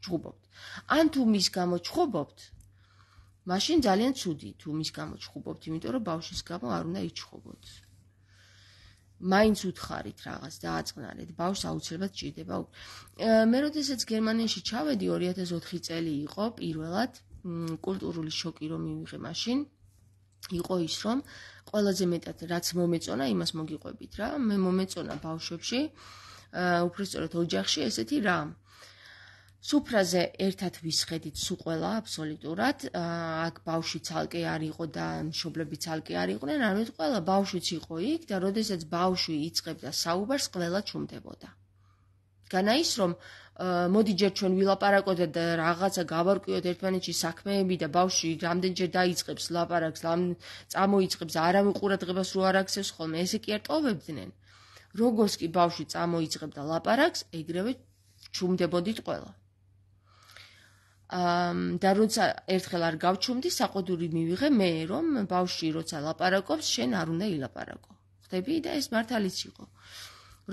ჩხუბობთ. ან თუ მის გამო ჩხუბობთ, მაშინ ძალიან ცუდი თუ მის გამო ჩხუბობთ, იმიტომ რომ ბავშვის გამო არ უნდა იჩხუბოთ. მაინც უთხარით რაღაც დააწყნარეთ, ბავშვს აუცილებლად ჭირდება. მე როდესაც გერმანიაში ჩავედი, ორი ათას ოთხი წელი იყო პირველად, კულტურული შოკი რომ მივიღე მაშინ, იყო ის, რომ ყველაზე მეტად რაც მომეწონა, იმას მოგიყვებით რა. მე მომეწონა ბავშვებში, უბრალოდ ოჯახში ესეთი რა. სუფრაზე ერთად ვისხედით სულ ყველა აბსოლუტურად, აქ ბავშვი ცალკე არ იყო და მშობლები ცალკე არ იყვნენ, ანუ ყველა ბავშვიც იყო იქ და როდესაც ბავშვი იწყებდა საუბარს, ყველა ჩუმდებოდა. განა ის, რომ მოდი ჯერ ჩვენ ვილაპარაკოთ და რაღაცა გავარკვიოთ ერთმანეთში საქმეები და ბავშვი რამდენჯერ დაიწყებს ლაპარაკს, წამოიწყებს, არავინ ყურადღებას რო არ აქცევს ხოლმე, ესე კი არ ტოვებდნენ. როგორც კი ბავშვი წამოიწყებდა ლაპარაკს, ეგრევე ჩუმდებოდით ყველა. და როცა ერთხელ არ გავჩუმდი, საყოდური მივიღე მე, რომ ბავშვი როცა ლაპარაკობს, შენ არ უნდა ილაპარაკო. ხდები და ეს მართალიც იყო.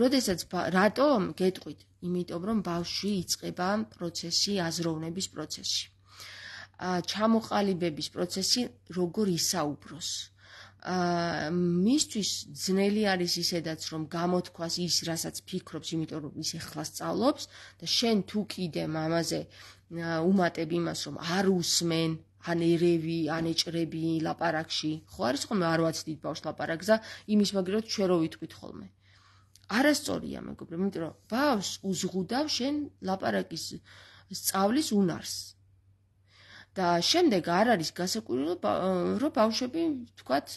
როდესაც რატომ გეტყვით? იმიტომ რომ ბავშვი იწყება პროცესი, აზროვნების პროცესი. ჩამოყალიბების პროცესი როგორ ისაუბროს. მისთვის ძნელი არის ისედაც რომ გამოთქვას ის, რასაც ფიქრობს, იმიტომ რომ ის ეხლა სწავლობს და შენ თუ კიდე მამაზე უმატებ იმას, რომ არ უსმენ, ან ერევი, ან ეჭრები ლაპარაკში. ხო არის ხოლმე არ ვაცდით ბავშვს ლაპარაკს და იმის მაგერად ჩვენ რო ვიტყვით ხოლმე. არასწორია მეგობრებო, იმიტომ რომ ბავშვს უზღუდავ შენ ლაპარაკის სწავლის უნარს. და შემდეგ არ არის გასაკვირი, რომ ბავშვები თქვათ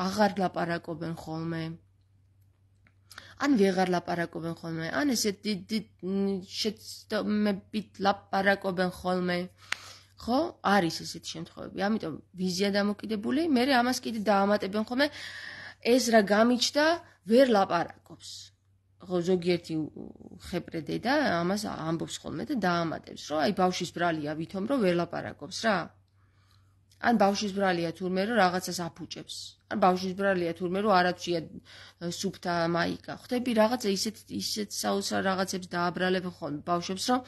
აღარ ლაპარაკობენ ხოლმე. ან ვეღარ ლაპარაკობენ ხოლმე, ან ესე შეცდომებით ლაპარაკობენ ხოლმე. ხო? არის ესეთი შემთხვევები. ამიტომ ვიზია დამოკიდებული, მე ამას კიდე დაამატებენ ხოლმე, ეს რა გამიჩნდა, ვერ ლაპარაკობს. ხო, ზოგიერთი ხეპრე დედა ამას ამბობს ხოლმე და დაამატებს, რომ აი ბავშვის ბრალია ვითომ რომ ვერ ლაპარაკობს რა. ან ბავშვის ბრალია თურმე რომ რაღაცას აფუჭებს. ან ბავშვის ბრალია თურმე რომ არაცია სუფთა მაიკა. ხდები რაღაცა ისეთ ისეთ საოცარ რაღაცებს დააბრალებენ ხოლმე ბავშვებს, რომ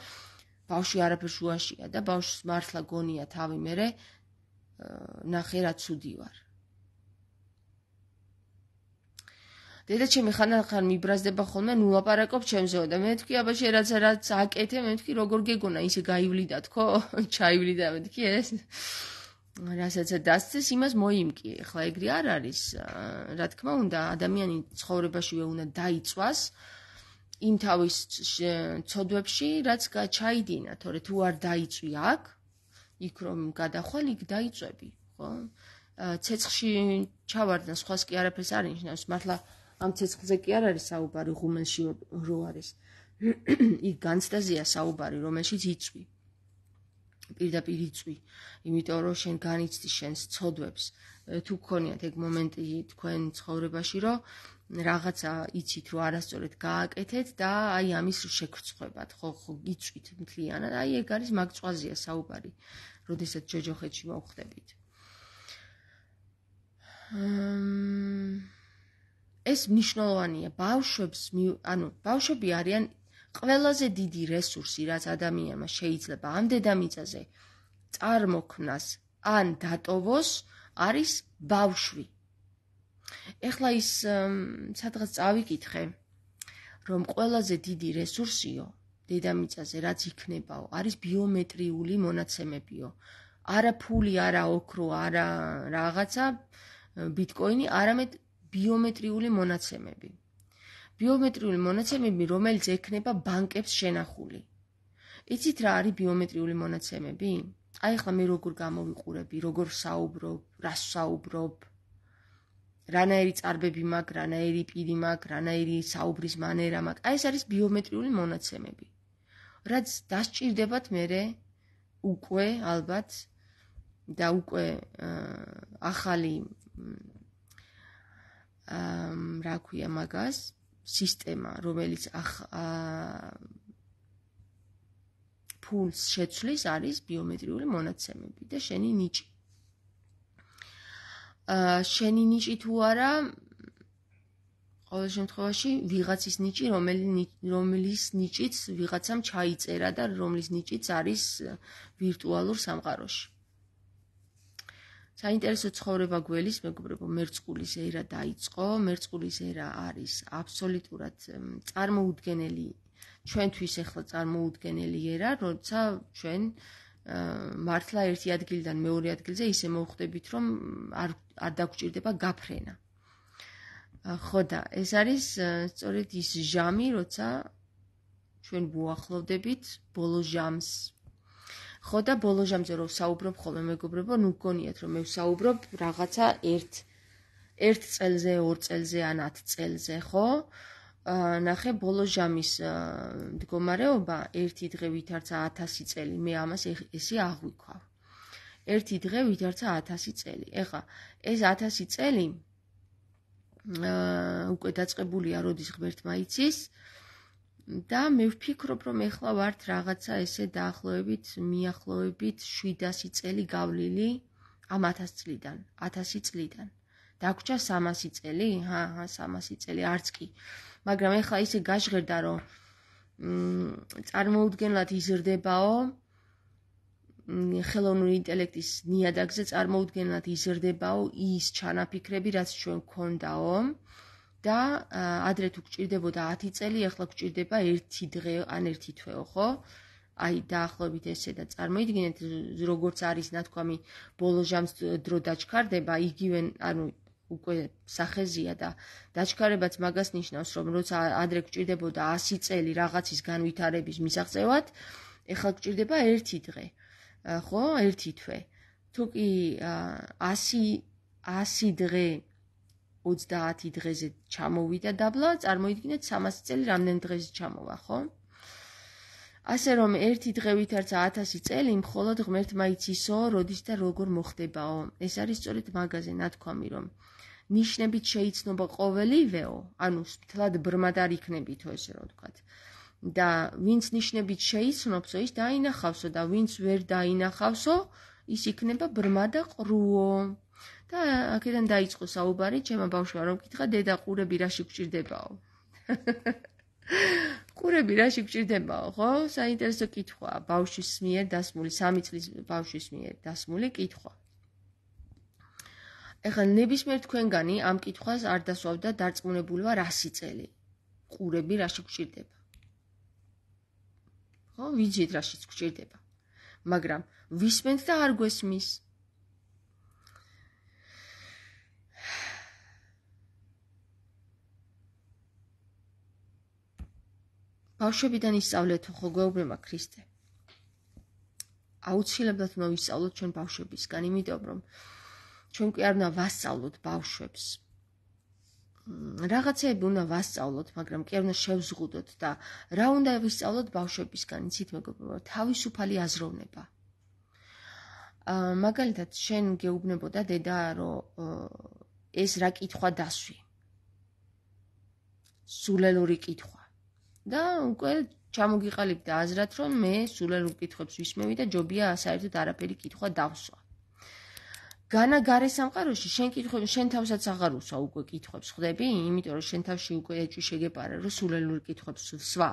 ბავშვი არაფერ შუაშია და ბავშვს მართლა გონია თავი მერე ნახე რა ცუდი ვარ. დედა ჩემი ხანდახან მიბრაზდება ხოლმე, ნუ ლაპარაკობ ჩემზეო და მე ვთქვი, აბა შენ რაც რაც აკეთე, მე ვთქვი, როგორ გეგონა, ისე გაივლიდათ, ხო? ჩაივლიდა, მე ვთქვი, ეს რასაც დასწეს, იმას მოიმკი. ეხლა ეგრე არ არის. რა თქმა უნდა, ადამიანი ცხოვრებაშივე უნდა დაიწვას იმ თავის ცოდვებში, რაც ჩაიდინა, თორე თუ არ დაიწვი აქ, იქ რომ გადახვალ, იქ დაიწვევი, ხო? ცეცხლში ჩავარდნა, სხვას კი არაფერს არ ნიშნავს, მართლა ამ ცეცხლზე კი არ არის საუბარი, ღუმელში რო არის. იქ განცდაზეა საუბარი, რომელშიც იწვი. პირდაპირ იწვი, იმიტომ რომ შენ განიცდი შენს ცოდვებს. თუ გქონიათ ეგ მომენტი თქვენ ცხოვრებაში, რომ რაღაცა იცით, რომ არასწორად გააკეთეთ და აი ამის შეგრცხვებათ, ხო, ხო, იწვით მთლიანად. აი ეგ არის მაგწვაზეა საუბარი, როდესაც ჯოჯოხეთში მოვხდებით. ეს მნიშვნელოვანია ბავშვებს, ანუ ბავშვები არიან ყველაზე დიდი რესურსი, რაც ადამიანმა შეიძლება ამ დედამიწაზე წარმოქმნას ან დატოვოს, არის ბავშვი. ეხლა ის სადღაც წავიკითხე, რომ ყველაზე დიდი რესურსიო დედამიწაზე, რაც იქნებაო, არის ბიომეტრიული მონაცემებიო. არა ფული, არა ოქრო, არა რაღაცა ბიტკოინი, არამედ ბიომეტრიული მონაცემები. ბიომეტრიული მონაცემები, რომელიც ექნება ბანკებს შენახული. იცით რა არის ბიომეტრიული მონაცემები? აი ახლა მე როგორ გამოვიყურები, როგორ საუბრობ, რას საუბრობ, რანაირი წარბები მაქვს, რანაირი პირი მაქვს, რანაირი საუბრის მანერა მაქვს. აი ეს არის ბიომეტრიული მონაცემები. რაც დასჭირდებათ მერე უკვე ალბათ და უკვე ახალი რა ქვია მაგას, სისტემა, რომელიც ფულს შეცვლის, არის ბიომეტრიული მონაცემები და შენი ნიჭი. შენი ნიჭი თუ არა, ყოველ შემთხვევაში ვიღაცის ნიჭი, რომლის ნიჭიც ვიღაცამ ჩაიწერა და რომლის ნიჭიც არის ვირტუალურ სამყაროში. საინტერესო ცხოვრება გველის, მეგობრებო, მერწყულის ერა დაიწყო. მერწყულის ერა არის აბსოლუტურად წარმოუდგენელი, ჩვენთვის ახლა წარმოუდგენელი ერა, როცა ჩვენ მართლა ერთი ადგილიდან მეორე ადგილზე ისე მოვხვდებით, რომ არ არ დაგვჭირდება გაფრენა. ხო და ეს არის სწორედ ის ჟამი, როცა ჩვენ ვუახლოვდებით ბოლო ჟამს. ხო და ბოლო ჟამზე რომ საუბრობ ხოლმე მეგობრებო, ნუ გგონიათ რომ მე ვსაუბრობ რაღაცა ერთ ერთ წელზე, ორ წელზე ან ათ წელზე, ხო? ნახე ბოლო ჟამის მდგომარეობა ერთი დღე ვითარცა ათასი წელი, მე ამას ესე აღვიქვავ. ერთი დღე ვითარცა ათასი წელი. ეხლა ეს ათასი წელი უკვე დაწყებულია როდის ღმერთმა იცის, და მე ვფიქრობ, რომ ეხლა ვართ რაღაცა ესე დაახლოებით, მიახლოებით შვიდასი წელი გავლილი ამ ათას წლიდან, ათასი წლიდან. დაგვრჩა სამასი წელი? ჰა, ჰა, სამასი წელი, არც კი. მაგრამ ეხლა ისე გაჟღერდა, რომ წარმოუდგენლად იზრდებაო, ხელოვნური ინტელექტის ნიადაგზე წარმოუდგენლად იზრდებაო ის ჩანაფიქრები, რაც ჩვენ გვქონდაო და ადრე თუ გჭირდებოდა ათი წელი, ეხლა გჭირდება ერთი დღე ან ერთი თვეო, ხო? აი დაახლოებით ესე და წარმოიდგინეთ, როგორც არის ნათქვამი ბოლო ჟამს დრო დაჩქარდება, იგივე, ანუ უკვე სახეზია და დაჩქარებაც მაგას ნიშნავს, რომ როცა ადრე გჭირდებოდა ასი წელი რაღაცის განვითარების მისაღწევად, ეხლა გჭირდება ერთი დღე. ხო, ერთი თვე. თუ კი ასი დღე ოცდაათი დღეზე ჩამოვიდა დაბლა, წარმოიდგინეთ სამასი წელი რამდენი დღეზე ჩამოვა, ხო? ასე რომ ერთი დღე ვითარცა ათასი წელი, მხოლოდ ღმერთმა იცისო, როდის და როგორ მოხდებაო. ეს არის სწორედ მაგაზე ნათქვამი, რომ ნიშნებით შეიცნობა ყოველივეო, ანუ თლად ბრმად არ იქნებითო, ესე რომ ვთქვათ. და ვინც ნიშნებით შეიცნობსო, ის დაინახავსო და ვინც ვერ დაინახავსო, ის იქნება ბრმა და ყრუო. და აქედან დაიწყო საუბარი, ჩემო ბავშვმა რომ კითხა, დედა ყურები რაში გჭირდებაო? ყურები რაში გჭირდებაო, ხო? საინტერესო კითხვაა, ბავშვის მიერ დასმული, სამი წლის ბავშვის მიერ დასმული კითხვა. ეხლა ნებისმიერ თქვენგანი ამ კითხვას არ დასვავდა დარწმუნებული ვარ ასი წელი. ყურები რაში გჭირდება? ხო, ვიცით რაშიც გჭირდება. მაგრამ ვისმენთ და არ გვესმის. ბავშვებიდან ისწავლეთო, ხო გვეუბნება ქრისტე. აუცილებლად უნდა ვისწავლოთ ჩვენ ბავშვებისგან, იმიტომ რომ ჩვენ კი არ უნდა ვასწავლოთ ბავშვებს. რაღაცეები უნდა ვასწავლოთ, მაგრამ კი არ უნდა შევზღუდოთ და რა უნდა ვისწავლოთ ბავშვებისგან, იცით მეგობრებო, თავისუფალი აზროვნება. მაგალითად, შენ გეუბნებოდა დედა, რომ ეს რა კითხვა დასვი. სულელური კითხვა. და უკვე ჩამოგიყალიბდა აზრად, რომ მე სულელურ კითხვებს ვისმევი და ჯობია საერთოდ არაფერი კითხვა დავსვა. განა გარე სამყაროში შენ კითხვები, შენ თავსაც აღარ უსვა უკვე კითხვებს, ხვდები? იმიტომ რომ შენ თავში უკვე ეჭვი შეგეპარა, რომ სულელურ კითხვებს ვსვა.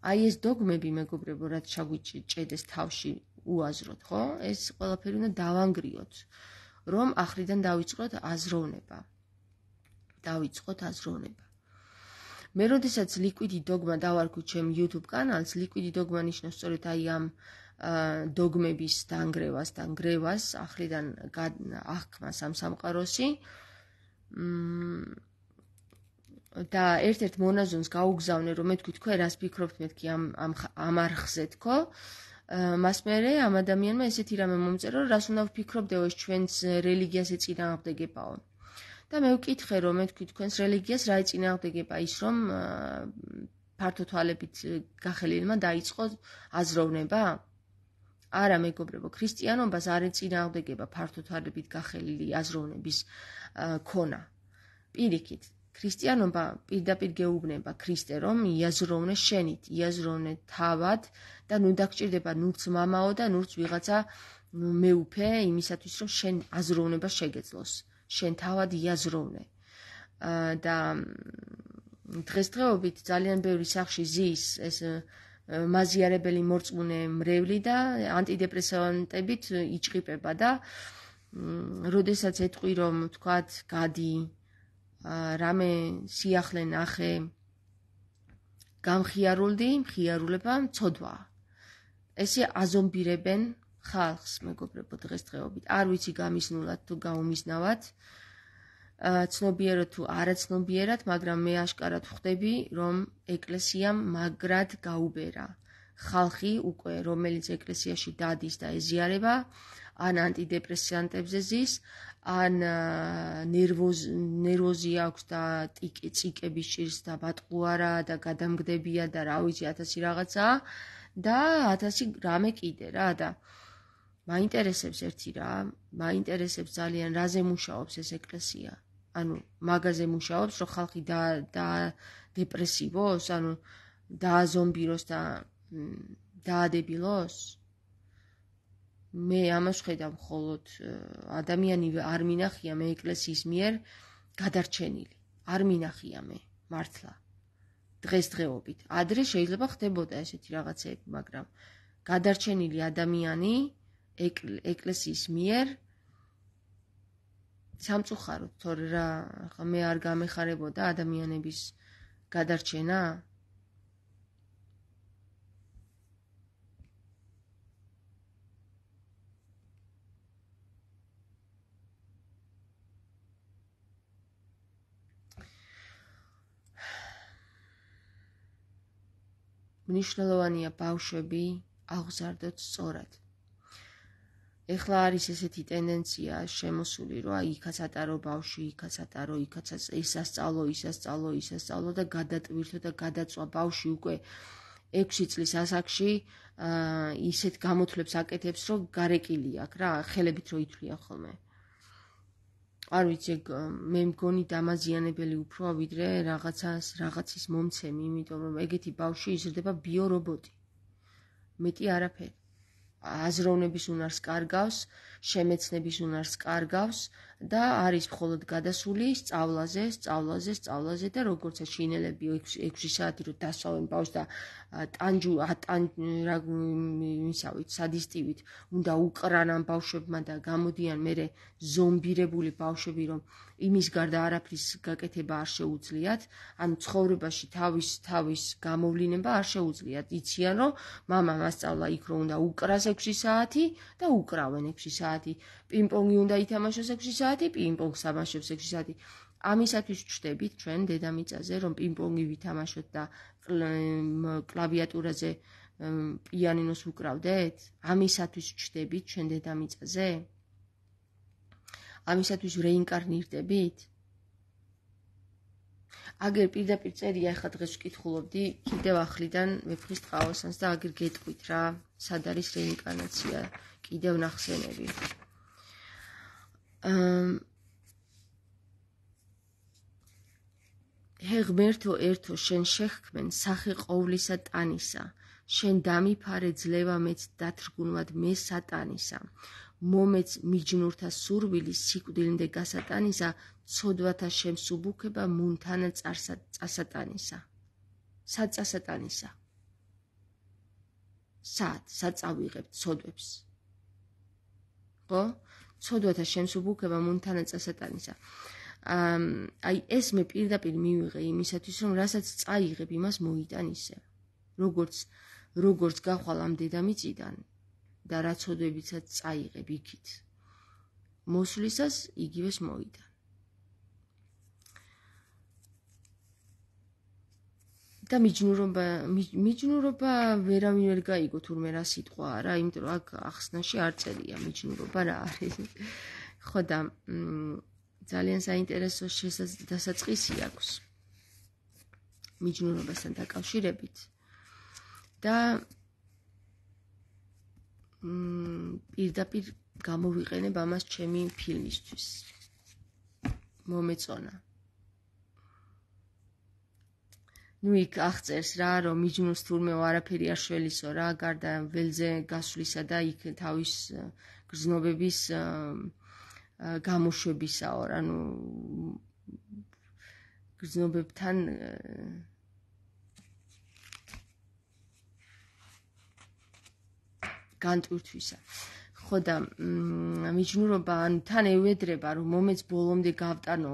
აი ეს დოგმები, მეგობრებო, რაც ჩაგვიჭედეს თავში უაზროთ, ხო? ეს ყველაფერი უნდა დავანგრიოთ, რომ ახრიდან დავიწყოთ აზროვნება. დავიწყოთ აზროვნება. მე როდესაც ლიკვიდი დოგმა დავარქვი ჩემ YouTube კანალს, ლიკვიდი დოგმა ნიშნავს სწორედ აი ამ დოგმების დანგრევას და ნგრევას, ახრიდან აღქმას ამ სამყაროსი. და ერთ-ერთ მონაზონს გაუგზავნე, რომ მე თქვი თქვენ რას ფიქრობთ მეთქი ამ ამ არხზე თქო. მას მერე ამ ადამიანმა ესეთი რამე მომწერა, რომ რას უნდა ვფიქრობდეო, ეს ჩვენს რელიგიას ეწინააღმდეგებაო. და მე ვკითხე, რომ მე თქვი თქვენს რელიგიას რა ეწინააღმდეგება, ის რომ ფართო თვალებით გახელილმა დაიწყო აზროვნება? არა, მეგობრებო, ქრისტიანობას არ ეწინააღმდეგება ფართო თვალებით გახელილი აზროვნების ქონა. პირიქით, ქრისტიანობა პირდაპირ გეუბნება ქრისტე, რომ იაზროვნე შენით, იაზროვნე თავად და ნუ დაგჭირდება ნურც მამაო და ნურც ვიღაცა მეუფე იმისათვის, რომ შენ აზროვნება შეგეძლოს. შენ თავად იაზროვნე. და დღესდღეობით ძალიან ბევრი სახში ზის ეს მაზიარებელი მორწმუნე მრევლი და ანტიდეპრესანტებით იჭყიპება და როდესაც ეთყვი, რომ თქვათ, გადი, რამე სიახლე ნახე, გამხიარულდი, მხიარულება მცოდვაა. ესე აზომბირებენ ხალხს, მეგობრებო, დღესდღეობით. არ ვიცი გამიზნულად თუ გაუმიზნავად, ცნობიერად თუ არაცნობიერად, მაგრამ მე აშკარად ხვდები, რომ ეკლესიამ მაგრად გაუბერა. ხალხი უკვე, რომელიც ეკლესიაში დადის და ეზიარება, ან ანტიდეპრესანტებზე ზის, ან ნერვოზი აქვს და წიკები სჭირს და ბატყუარა და გადამგდებია და რა ვიცი, ათასი რაღაცა და ათასი რამე კიდე რა და მაინტერესებს ერთი რა, მაინტერესებს ძალიან რაზე მუშაობს ეს ეკლესია. ანუ მაგაზე მუშაობს, რომ ხალხი და და დეპრესივოს, ანუ დააზომბიროს და დაადებილოს? მე ამას ვხედავ მხოლოდ ადამიანი არ მინახია მე ეკლესიის მიერ გადარჩენილი. არ მინახია მე მართლა. დღესდღეობით. ადრე შეიძლება ხდებოდა ესეთი რაღაცები, მაგრამ გადარჩენილი ადამიანი ეკლესიის მიერ სამწუხაროდ, თორე რა, მე არ გამეხარებოდა ადამიანების გადარჩენა? მნიშვნელოვანია ბავშვები აღზარდოთ სწორად. ეხლა არის ესეთი ტენდენცია შემოსული, რომ აი იქაც ატარო ბავშვი, იქაც ატარო, იქაც ისასწავლო, ისასწავლო, ისასწავლო და გადატვირთო და გადაწვა ბავშვი უკვე ექვსი წლის ასაკში ისეთ გამოთვლებს აკეთებს, რომ გარეკილი აქვს რა, ხელებით რო ითვლიან ხოლმე. არ ვიცი, მე მგონი დამაზიანებელი უფრო ვიდრე რაღაცას, რაღაცის მომცემი, იმიტომ რომ ეგეთი ბავშვი იზრდება ბიორობოტი. მეტი არაფერი. აზროვნების უნარს კარგავს, შემეცნების უნარს კარგავს და არის მხოლოდ გადასული სწავლაზე, სწავლაზე, სწავლაზე და როგორც შინელები ექვსი საათი რო დასვავენ ბავშვს და ტანჯუ ისავით სადისტივით უნდა უყრან ამ ბავშვებმა და გამოდიან მერე ზომბირებული ბავშვები, რომ იმის გარდა არაფრის გაკეთება არ შეუძლიათ, ანუ ცხოვრებაში თავის თავის გამოვლინება არ შეუძლიათ. იციან, რომ მამა მასწავლა იქ რომ უნდა უკრას ექვსი საათი და უკრავენ ექვსი საათი. პინგ-პონგი უნდა ითამაშოს ექვსი საათი, პინგ-პონგს თამაშობს ექვსი საათი. ამისათვის ვჩდებით ჩვენ დედამიწაზე, რომ პინგ-პონგი ვითამაშოთ და კლავიატურაზე პიანინოს უკრავდეთ? ამისათვის ვჩდებით ჩვენ დედამიწაზე? ამისათვის რეინკარნირდებით? აგერ პირდაპირ წერია, ახლა დღეს ვკითხულობდი კიდევ ახლიდან ვეფხის ტყავასანს და აგერ გეტყვით რა, სად არის რეინკარნაცია, კიდევ ნახსენები. ჰე ღმერთო ერთო, შენ შეჰქმენ სახე ყოვლისა ტანისა, შენ დამიფარე ძლევა მეც დათრგუნვად მე სატანისა, მომეც მიჯნურთა სურვილი სიკვდილნდე გასატანისა, ცოდვათა შემსუბუქება მუნთანა წასატანისა. სად წასატანისა? სად? სად წავიღებთ ცოდვებს? ხო? ცოდვათა შემსუბუქება მუნთანა წასატანისა. აი ეს მე პირდაპირ მივიღე იმისათვის, რომ რასაც წაიღებ, იმას მოიტან ისე. როგორც როგორც გახვალ ამ დედამიწიდან და რა ცოდვებიცაც წაიღებ იქით. მოსვლისას იგივეს მოიტან. და მიჯნურობა, მიჯნურობა ვერავინ ვერ გაიგო თურმე რა სიტყვაა რა, იმიტომ რომ აქ ახსნაში არ წერია მიჯნურობა რა არის. ხო და ძალიან საინტერესო დასაწყისი აქვს მიჯნურობასთან დაკავშირებით და პირდაპირ გამოვიყენებ ამას ჩემი ფილმისთვის. მომეწონა. ნუ იქ აღწერს რა, რომ მიჯნურს თურმე არაფერი არ შველისო რა, გარდა ველზე გასვლისა და იქ თავის გრძნობების გამოშვებისაო, ანუ გრძნობებთან განტვირთვისა. ხო და მიჯნურობა, ანუ თან ევედრება, რომ მომეც ბოლომდე გავტანო,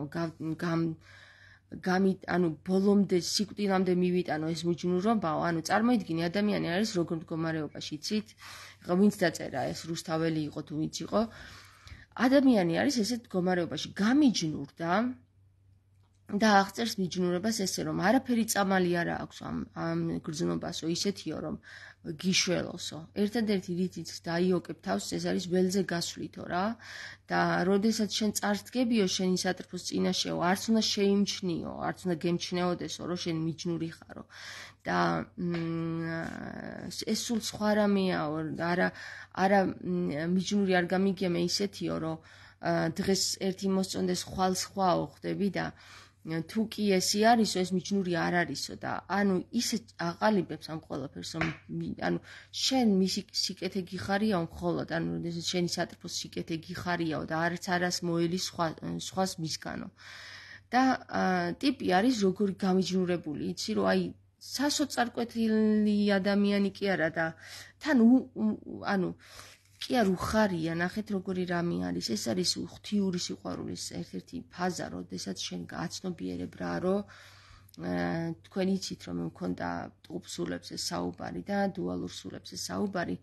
გამი, ანუ ბოლომდე სიკვდილამდე მივიტანო ეს მიჯნურობაო, ანუ წარმოიდგინე ადამიანი არის როგორ მდგომარეობაში, იცით? ხო, ვინც დაწერა ეს რუსთაველი იყო თუ ვინც იყო. ადამიანი არის ესეთ მდგომარეობაში, გამიჯნურდა და აღწერს მიჯნურებას ესე, რომ არაფერი წამალი არ აქვს ამ ამ გრძნობასო, ისეთიო, რომ გიშველოსო. ერთადერთი რითიც დაიოკებ თავს, ეს არის ველზე გასვლითო რა და როდესაც შენ წარსდგებიო შენი სატრფოს წინაშეო, არც უნდა შეიმჩნიო, არც უნდა გემჩნეოდესო, რომ შენ მიჯნური ხარო. და ეს სულ სხვა რამეაო, არა არა მიჯნური არ გამიგია მე ისეთიო, რომ დღეს ერთი მოსწონდეს ხვალ სხვაო ხდები და თუ კი ესი არისო, ეს მიჯნური არ არისო და ანუ ისე აყალიბებს ამ ყველაფერს, რომ ანუ შენ მისი სიკეთე გიხარიაო მხოლოდ, ანუ როდესაც შენი სატრფოს სიკეთე გიხარიაო და არც არას მოელი სხვა სხვას მისგანო. და ტიპი არის როგორი გამიჯნურებული, იცი რომ აი სასოწარკვეთილი ადამიანი კი არა და თან ანუ კი არ უხარია, ნახეთ როგორი რამე არის. ეს არის ღვთიური სიყვარულის ერთ-ერთი ფაზა, როდესაც შენ გააცნობიერებ რა, რომ თქვენ იცით, რომ მქონდა ტყუპ სულებზე საუბარი და დუალურ სულებზე საუბარი.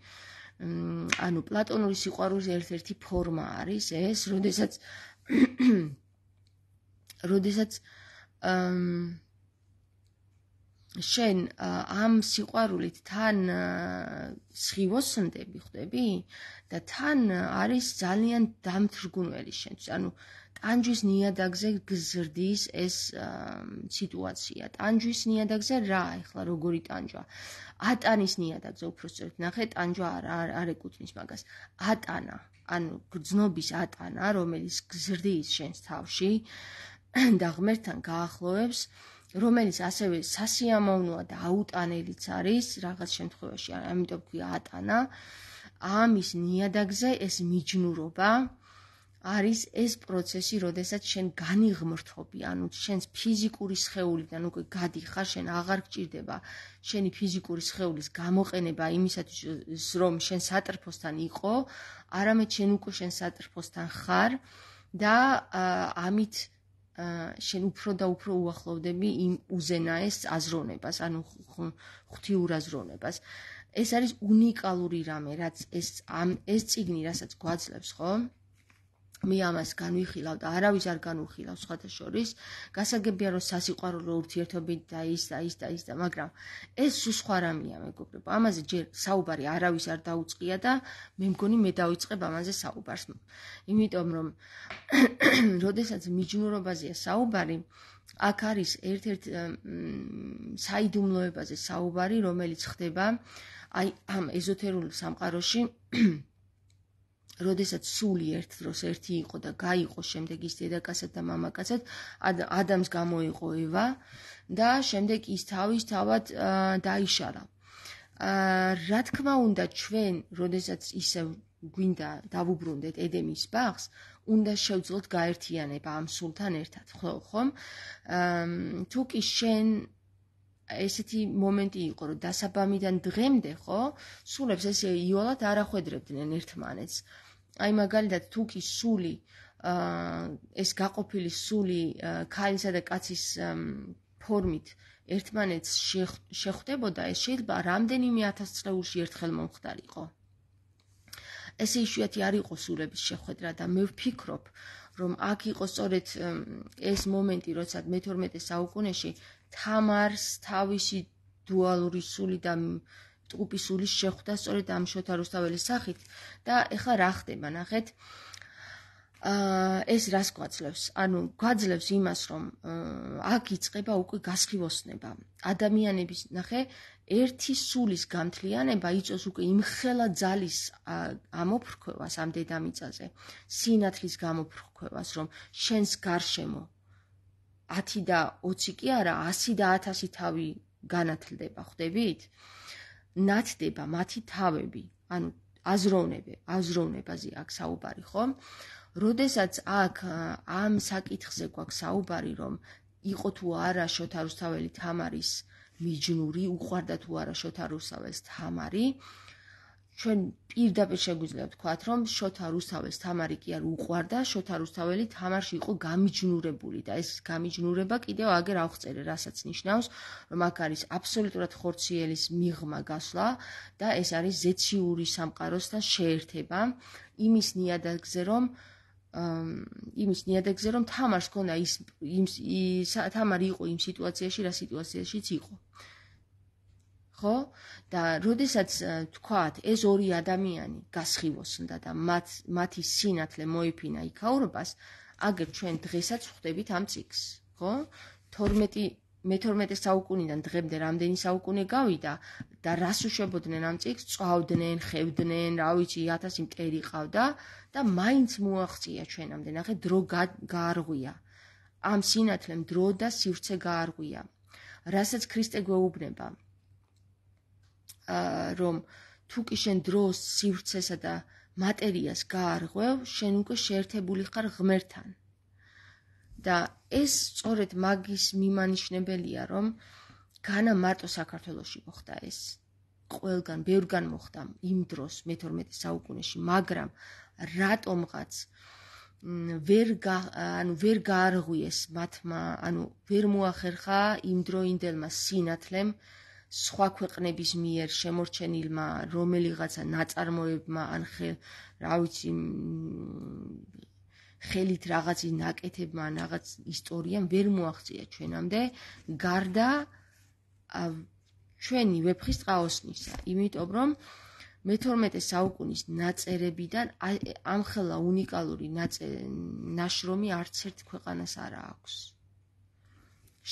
ანუ პლატონური სიყვარულის ერთ-ერთი ფორმა არის ეს, როდესაც როდესაც შენ ამ სიყვარულით თან სხივოსნდები, ხვდები? და თან არის ძალიან დამთრგუნველი შენთვის. ანუ ტანჯვის ნიადაგზე გზრდის ეს სიტუაცია. ტანჯვის ნიადაგზე რა, ეხლა როგორი ტანჯვა? ატანის ნიადაგზე უпроსწორად ნახე, ტანჯვა არ არ ეკუთვნის მაგას. ატანა, ანუ გრძნობის ატანა, რომელიც გზრდის შენს თავში და ღმერთთან გაახლოვებს, რომელიც ასევე სასიამოვნოა და აუტანელიც არის რაღაც შემთხვევაში, ამიტომ ქვია ატანა. ამის ნიადაგზე ეს მიჯნურობა არის ეს პროცესი, როდესაც შენ განიღმრთობი, ანუ შენს ფიზიკური სხეულიდან უკვე გადიხარ, შენ აღარ გჭირდება შენი ფიზიკური სხეულის გამოყენება იმისათვის, რომ შენ სატრფოსთან იყო, არამედ შენ უკვე შენ სატრფოსთან ხარ და ამით შენ უფრო და უფრო უახლოვდები იმ უზენაეს აზროვნებას, ანუ ღვთიურ აზროვნებას. ეს არის უნიკალური რამე, რაც ეს ამ ეს წიგნი, რასაც გვაძლევს, ხო? მე ამას განვიხილავ და არავის არ განვიხილავს სხვათა შორის. გასაგებია, რომ სასიყვარულო ურთიერთობით და ის და ის და ის და, მაგრამ ეს სულ სხვა რამეა, მეგობრებო. ამაზე ჯერ საუბარი არავის არ დაუწყია და მე მგონი მე დავიწყებ ამაზე საუბარს. იმიტომ რომ როდესაც მიჯნურობაზეა საუბარი, აქ არის ერთ-ერთ საიდუმლოებაზე საუბარი, რომელიც ხდება აი ამ ეზოთერულ სამყაროში, როდესაც სული ერთ დროს ერთი იყო და გაიყო შემდეგ ის დედაკაცად და მამაკაცად, ადამს გამოიყო ევა და შემდეგ ის თავის თავად დაიშალა. რა თქმა უნდა, ჩვენ, როდესაც ისევ გვინდა დავუბრუნდეთ ედემის ბაღს, უნდა შევძლოთ გაერთიანება ამ სულთან ერთად, ხომ? თუ კი შენ ესეთი მომენტი იყო, რომ დასაბამიდან დღემდე, ხო, სულებს ესე იოლად არ ახვედრებდნენ ერთმანეთს. აი მაგალითად, თუ კი სული, ეს გაყოფილი სული ქალისა და კაცის ფორმით ერთმანეთს შეხვდებოდა, ეს შეიძლება რამდენიმე ათას წლეულში ერთხელ მომხდარიყო. ესე იშვიათი არ იყო სულების შეხვედრა და მე ვფიქრობ, რომ აქ იყო სწორედ ეს მომენტი, როცა მეთორმეტე საუკუნეში თამარს თავისი დუალური სული და ტყუპი სულის შეხვდა სწორედ ამ შოთა რუსთაველის სახით და ეხლა რა ხდება, ნახეთ. ეს რას გვაძლევს? ანუ გვაძლევს იმას, რომ აქ იწყება უკვე გასხივოსნება. ადამიანების, ნახე, ერთი სულის გამთლიანება იწვევს უკვე იმხელა ძალის ამოფრქვევას ამ დედამიწაზე, სინათლის გამოფრქვევას, რომ შენს გარშემო ათი და ოცი კი არა, ასი და ათასი თავი განათლდება, ხვდებით? ნათდება მათი თავები, ანუ აზროვნები, აზროვნებაზე აქ საუბარი, ხო? როდესაც აქ ამ საკითხზე გვაქვს საუბარი, რომ იყო თუ არა შოთა რუსთაველი თამარის მიჯნური, უყვარდა თუ არა შოთა რუსთაველს თამარი, ჩვენ პირდაპირ შეგვიძლია ვთქვათ, რომ შოთა რუსთაველს თამარი კი არ უყვარდა, შოთა რუსთაველი თამარში იყო გამიჯნურებული და ეს გამიჯნურება კიდევ აგერ ავხწერე, რასაც ნიშნავს, რომ აქ არის აბსოლუტურად ხორციელის მიღმა გასვლა და ეს არის ზეციური სამყაროსთან შეერთება იმის ნიადაგზე, რომ იმის ნიადაგზე, რომ თამარს ქონდა ის თამარი იყო იმ სიტუაციაში, რა სიტუაციაშიც იყო. ხო? და როდესაც თქვათ, ეს ორი ადამიანი გასხივოსნდა და მათ მათი სინათლე მოიფინა იქაურობას, აგერ ჩვენ დღესაც ვხვდებით ამ წიგნს, ხო? მეთორმეტე საუკუნიდან დღემდე რამდენი საუკუნე გავიდა და რას უშვებოდნენ ამ წიგნს, წვავდნენ, ხევდნენ, რა ვიცი, ათასი მტერი ყავდა და მაინც მოაღწია ჩვენამდე. ნახე, დრო გაარღვია. ამ სინათლემ დრო და სივრცე გაარღვია, რასაც ქრისტე გვეუბნება, რომ თუ კი შენ დროს, სივრცესა და მატერიას გაარღვევ, შენ უკვე შეერთებული ხარ ღმერთთან. და ეს სწორედ მაგის მიმანიშნებელია, რომ განა მარტო საქართველოში მოხდა ეს. ყველგან, ბევრგან მოხდა იმ დროს მეთორმეტე საუკუნეში, მაგრამ რატომღაც ვერ ანუ ვერ გაარღვიეს მათმა, ანუ ვერ მოახერხა იმ დროინდელმა სინათლემ სხვა ქვეყნების მიერ შემორჩენილმა რომელიღაცა ნაწარმოებმა ან რა ვიცი ხელით რაღაცის ნაკეთებმა ან რაღაც ისტორიამ ვერ მოაღწია ჩვენამდე გარდა ჩვენი ვეფხის ტყაოსნისა, იმიტომ რომ მეთორმეტე საუკუნის ნაწერებიდან ამხელა უნიკალური ნაშრომი არც ერთ ქვეყანას არ აქვს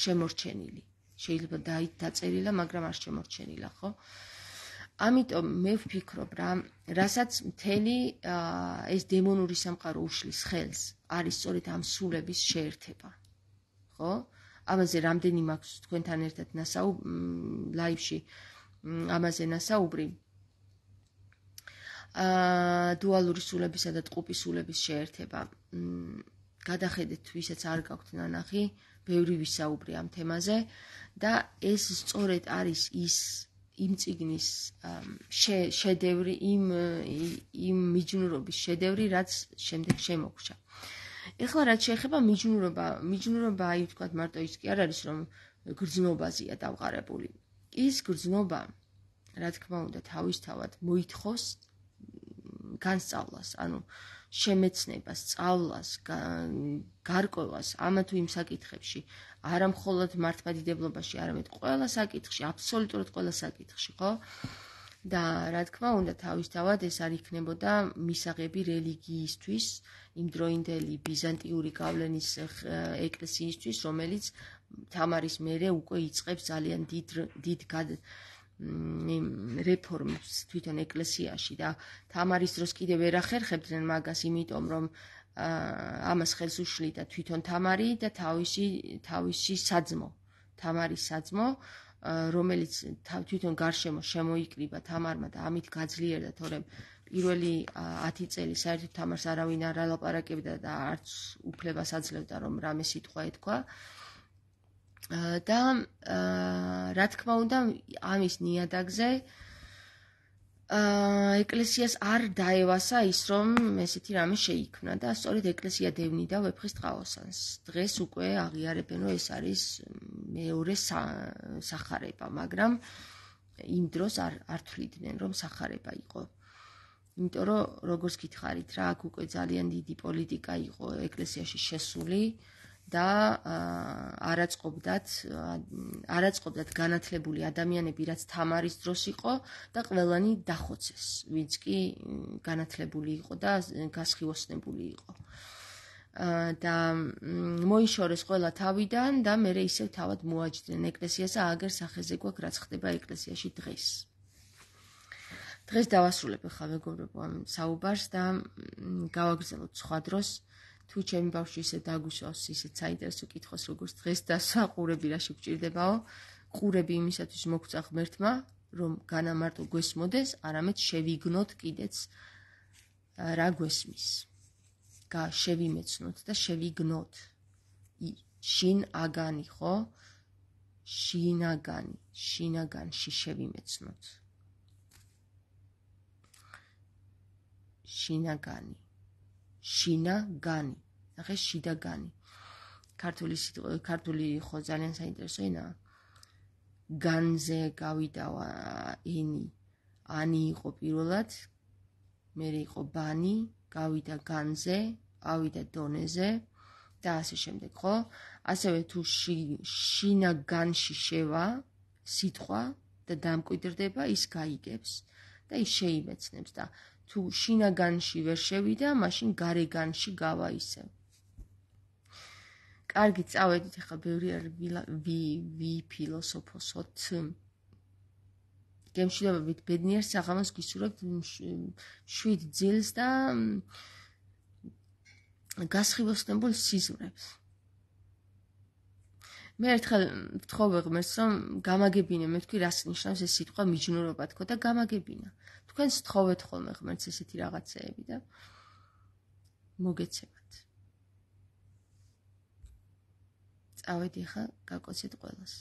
შემორჩენილი. შეიძლება დაწერილა, მაგრამ არ შემორჩენილა, ხო? ამიტომ მე ვფიქრობ რა, რასაც მთელი ეს დემონური სამყარო უშლის ხელს, არის სწორედ ამ სულების შეერთება. ხო? ამაზე რამდენი მაქვს თქვენთან ერთად ლაივში ამაზე ნასაუბრი. დუალური სულებისა და ტყუპი სულების შეერთება. გადახედეთ, ვისაც არ გაქვთ ნანახი, ბევრი ვისაუბრე ამ თემაზე და ეს სწორედ არის ის იმ წიგნის შედევრი, იმ იმ მიჯნურობის შედევრი, რაც შემდეგ შემოგვრჩა. ეხლა რაც შეეხება მიჯნურობა, მიჯნურობა აი ვთქვათ მარტო ის კი არ არის, რომ გრძნობაზეა დავყარებული. ის გრძნობა, რა თქმა უნდა, თავისთავად მოითხოვს განსწავლას, ანუ შემეცნებას, სწავლას, გარკვევას ამა თუ იმ საკითხებში, არა მხოლოდ მართლმადიდებლობაში, არამედ ყველა საკითხში, აბსოლუტურად ყველა საკითხში, ხო? და რა თქმა უნდა, თავისთავად ეს არ იქნებოდა მისაღები რელიგიისთვის, იმ დროინდელი ბიზანტიური გავლენის ეკლესიისთვის, რომელიც თამარის მერე უკვე იწყებს ძალიან დიდ დიდ რეფორმებს თვითონ ეკლესიაში და თამარის დროს კიდევ ვერ ახერხებდნენ მაგას, იმიტომ რომ ამას ხელს უშლიდა თვითონ თამარი და თავისი თავისი საძმო, თამარის საძმო, რომელიც თვითონ გარშემო შემოიკრიბა თამარმა და ამით გაძლიერდა, თორემ პირველი ათი წელი საერთოდ თამარს არავინ არ ალაპარაკებდა და არც უფლებას აძლევდა, რომ რამე სიტყვა ეთქვა. და რა თქმა უნდა, ამის ნიადაგზე ეკლესიას არ დაევასა ის, რომ ესეთი რამე შეიქმნა და სწორედ ეკლესია დევნიდა ვეფხის ტყაოსანს. დღეს უკვე აღიარებენ, რომ ეს არის მეორე სახარება, მაგრამ იმ დროს არ არ თვლიდნენ, რომ სახარება იყო. იმიტომ რომ როგორც გითხარით რა, აქ უკვე ძალიან დიდი პოლიტიკა იყო ეკლესიაში შესული და არაწყობდათ არაწყობდათ განათლებული ადამიანები, რაც თამარის დროს იყო და ყველანი დახოცეს, ვინც კი განათლებული იყო და გასხივოსნებული იყო. და მოიშორეს ყველა თავიდან და მერე ისევ თავად მოაჯდნენ ეკლესიას, აგერ სახეზე გვაქვს, რაც ხდება ეკლესიაში დღეს. დღეს დავასრულებ ახლა მეგობრებო ამ საუბარს და გავაგრძელოთ სხვა დროს. თუ ჩემი ბავშვი ისე დაგუშავს, ისე საინტერესო კითხოს, როგორც დღეს დასვა, ყურები რაში გვჭირდებაო, ყურები იმისათვის მოგწა ღმერთმა, რომ განა მარტო გვესმოდეს, არამედ შევიგნოთ კიდეც რა გვესმის. გა შევიმეცნოთ და შევიგნოთ. შინ აგანი, ხო? შინაგანი, შინაგანში შევიმეცნოთ. შინაგანი. შინაგანი, ნახე შიდაგანი. ქართული ქართული ხო ძალიან საინტერესო ენაა. განზე გავიდა ენი, ანი იყო პირველად, მერე იყო ბანი, გავიდა განზე, ავიდა დონეზე და ასე შემდეგ, ხო? ასევე თუ შინაგანში შევა სიტყვა და დამკვიდრდება, ის გაიგებს და ის შეიმეცნებს და თუ შინაგანში ვერ შევიდა, მაშინ გარეგანში გავა ისევ. კარგი, წავედით, ახლა ბევრი არ ვიფილოსოფოსოთ. გემშვიდობებით, ბედნიერ საღამოს გისურვებთ, შვიდ ძილს და გასხივოსნებულ სიზმრებს. მე ერთხელ ვთხოვე ღმერთს, რომ გამაგებინე, მე ვთქვი, რას ნიშნავს ეს სიტყვა მიჯნურობა თქო და გამაგებინა. თქვენს თხოვეთ ხოლმე ღმერთს ესეთი რაღაცეები და მოგეცემათ. წავედი ხა, გაკოცეთ ყველას.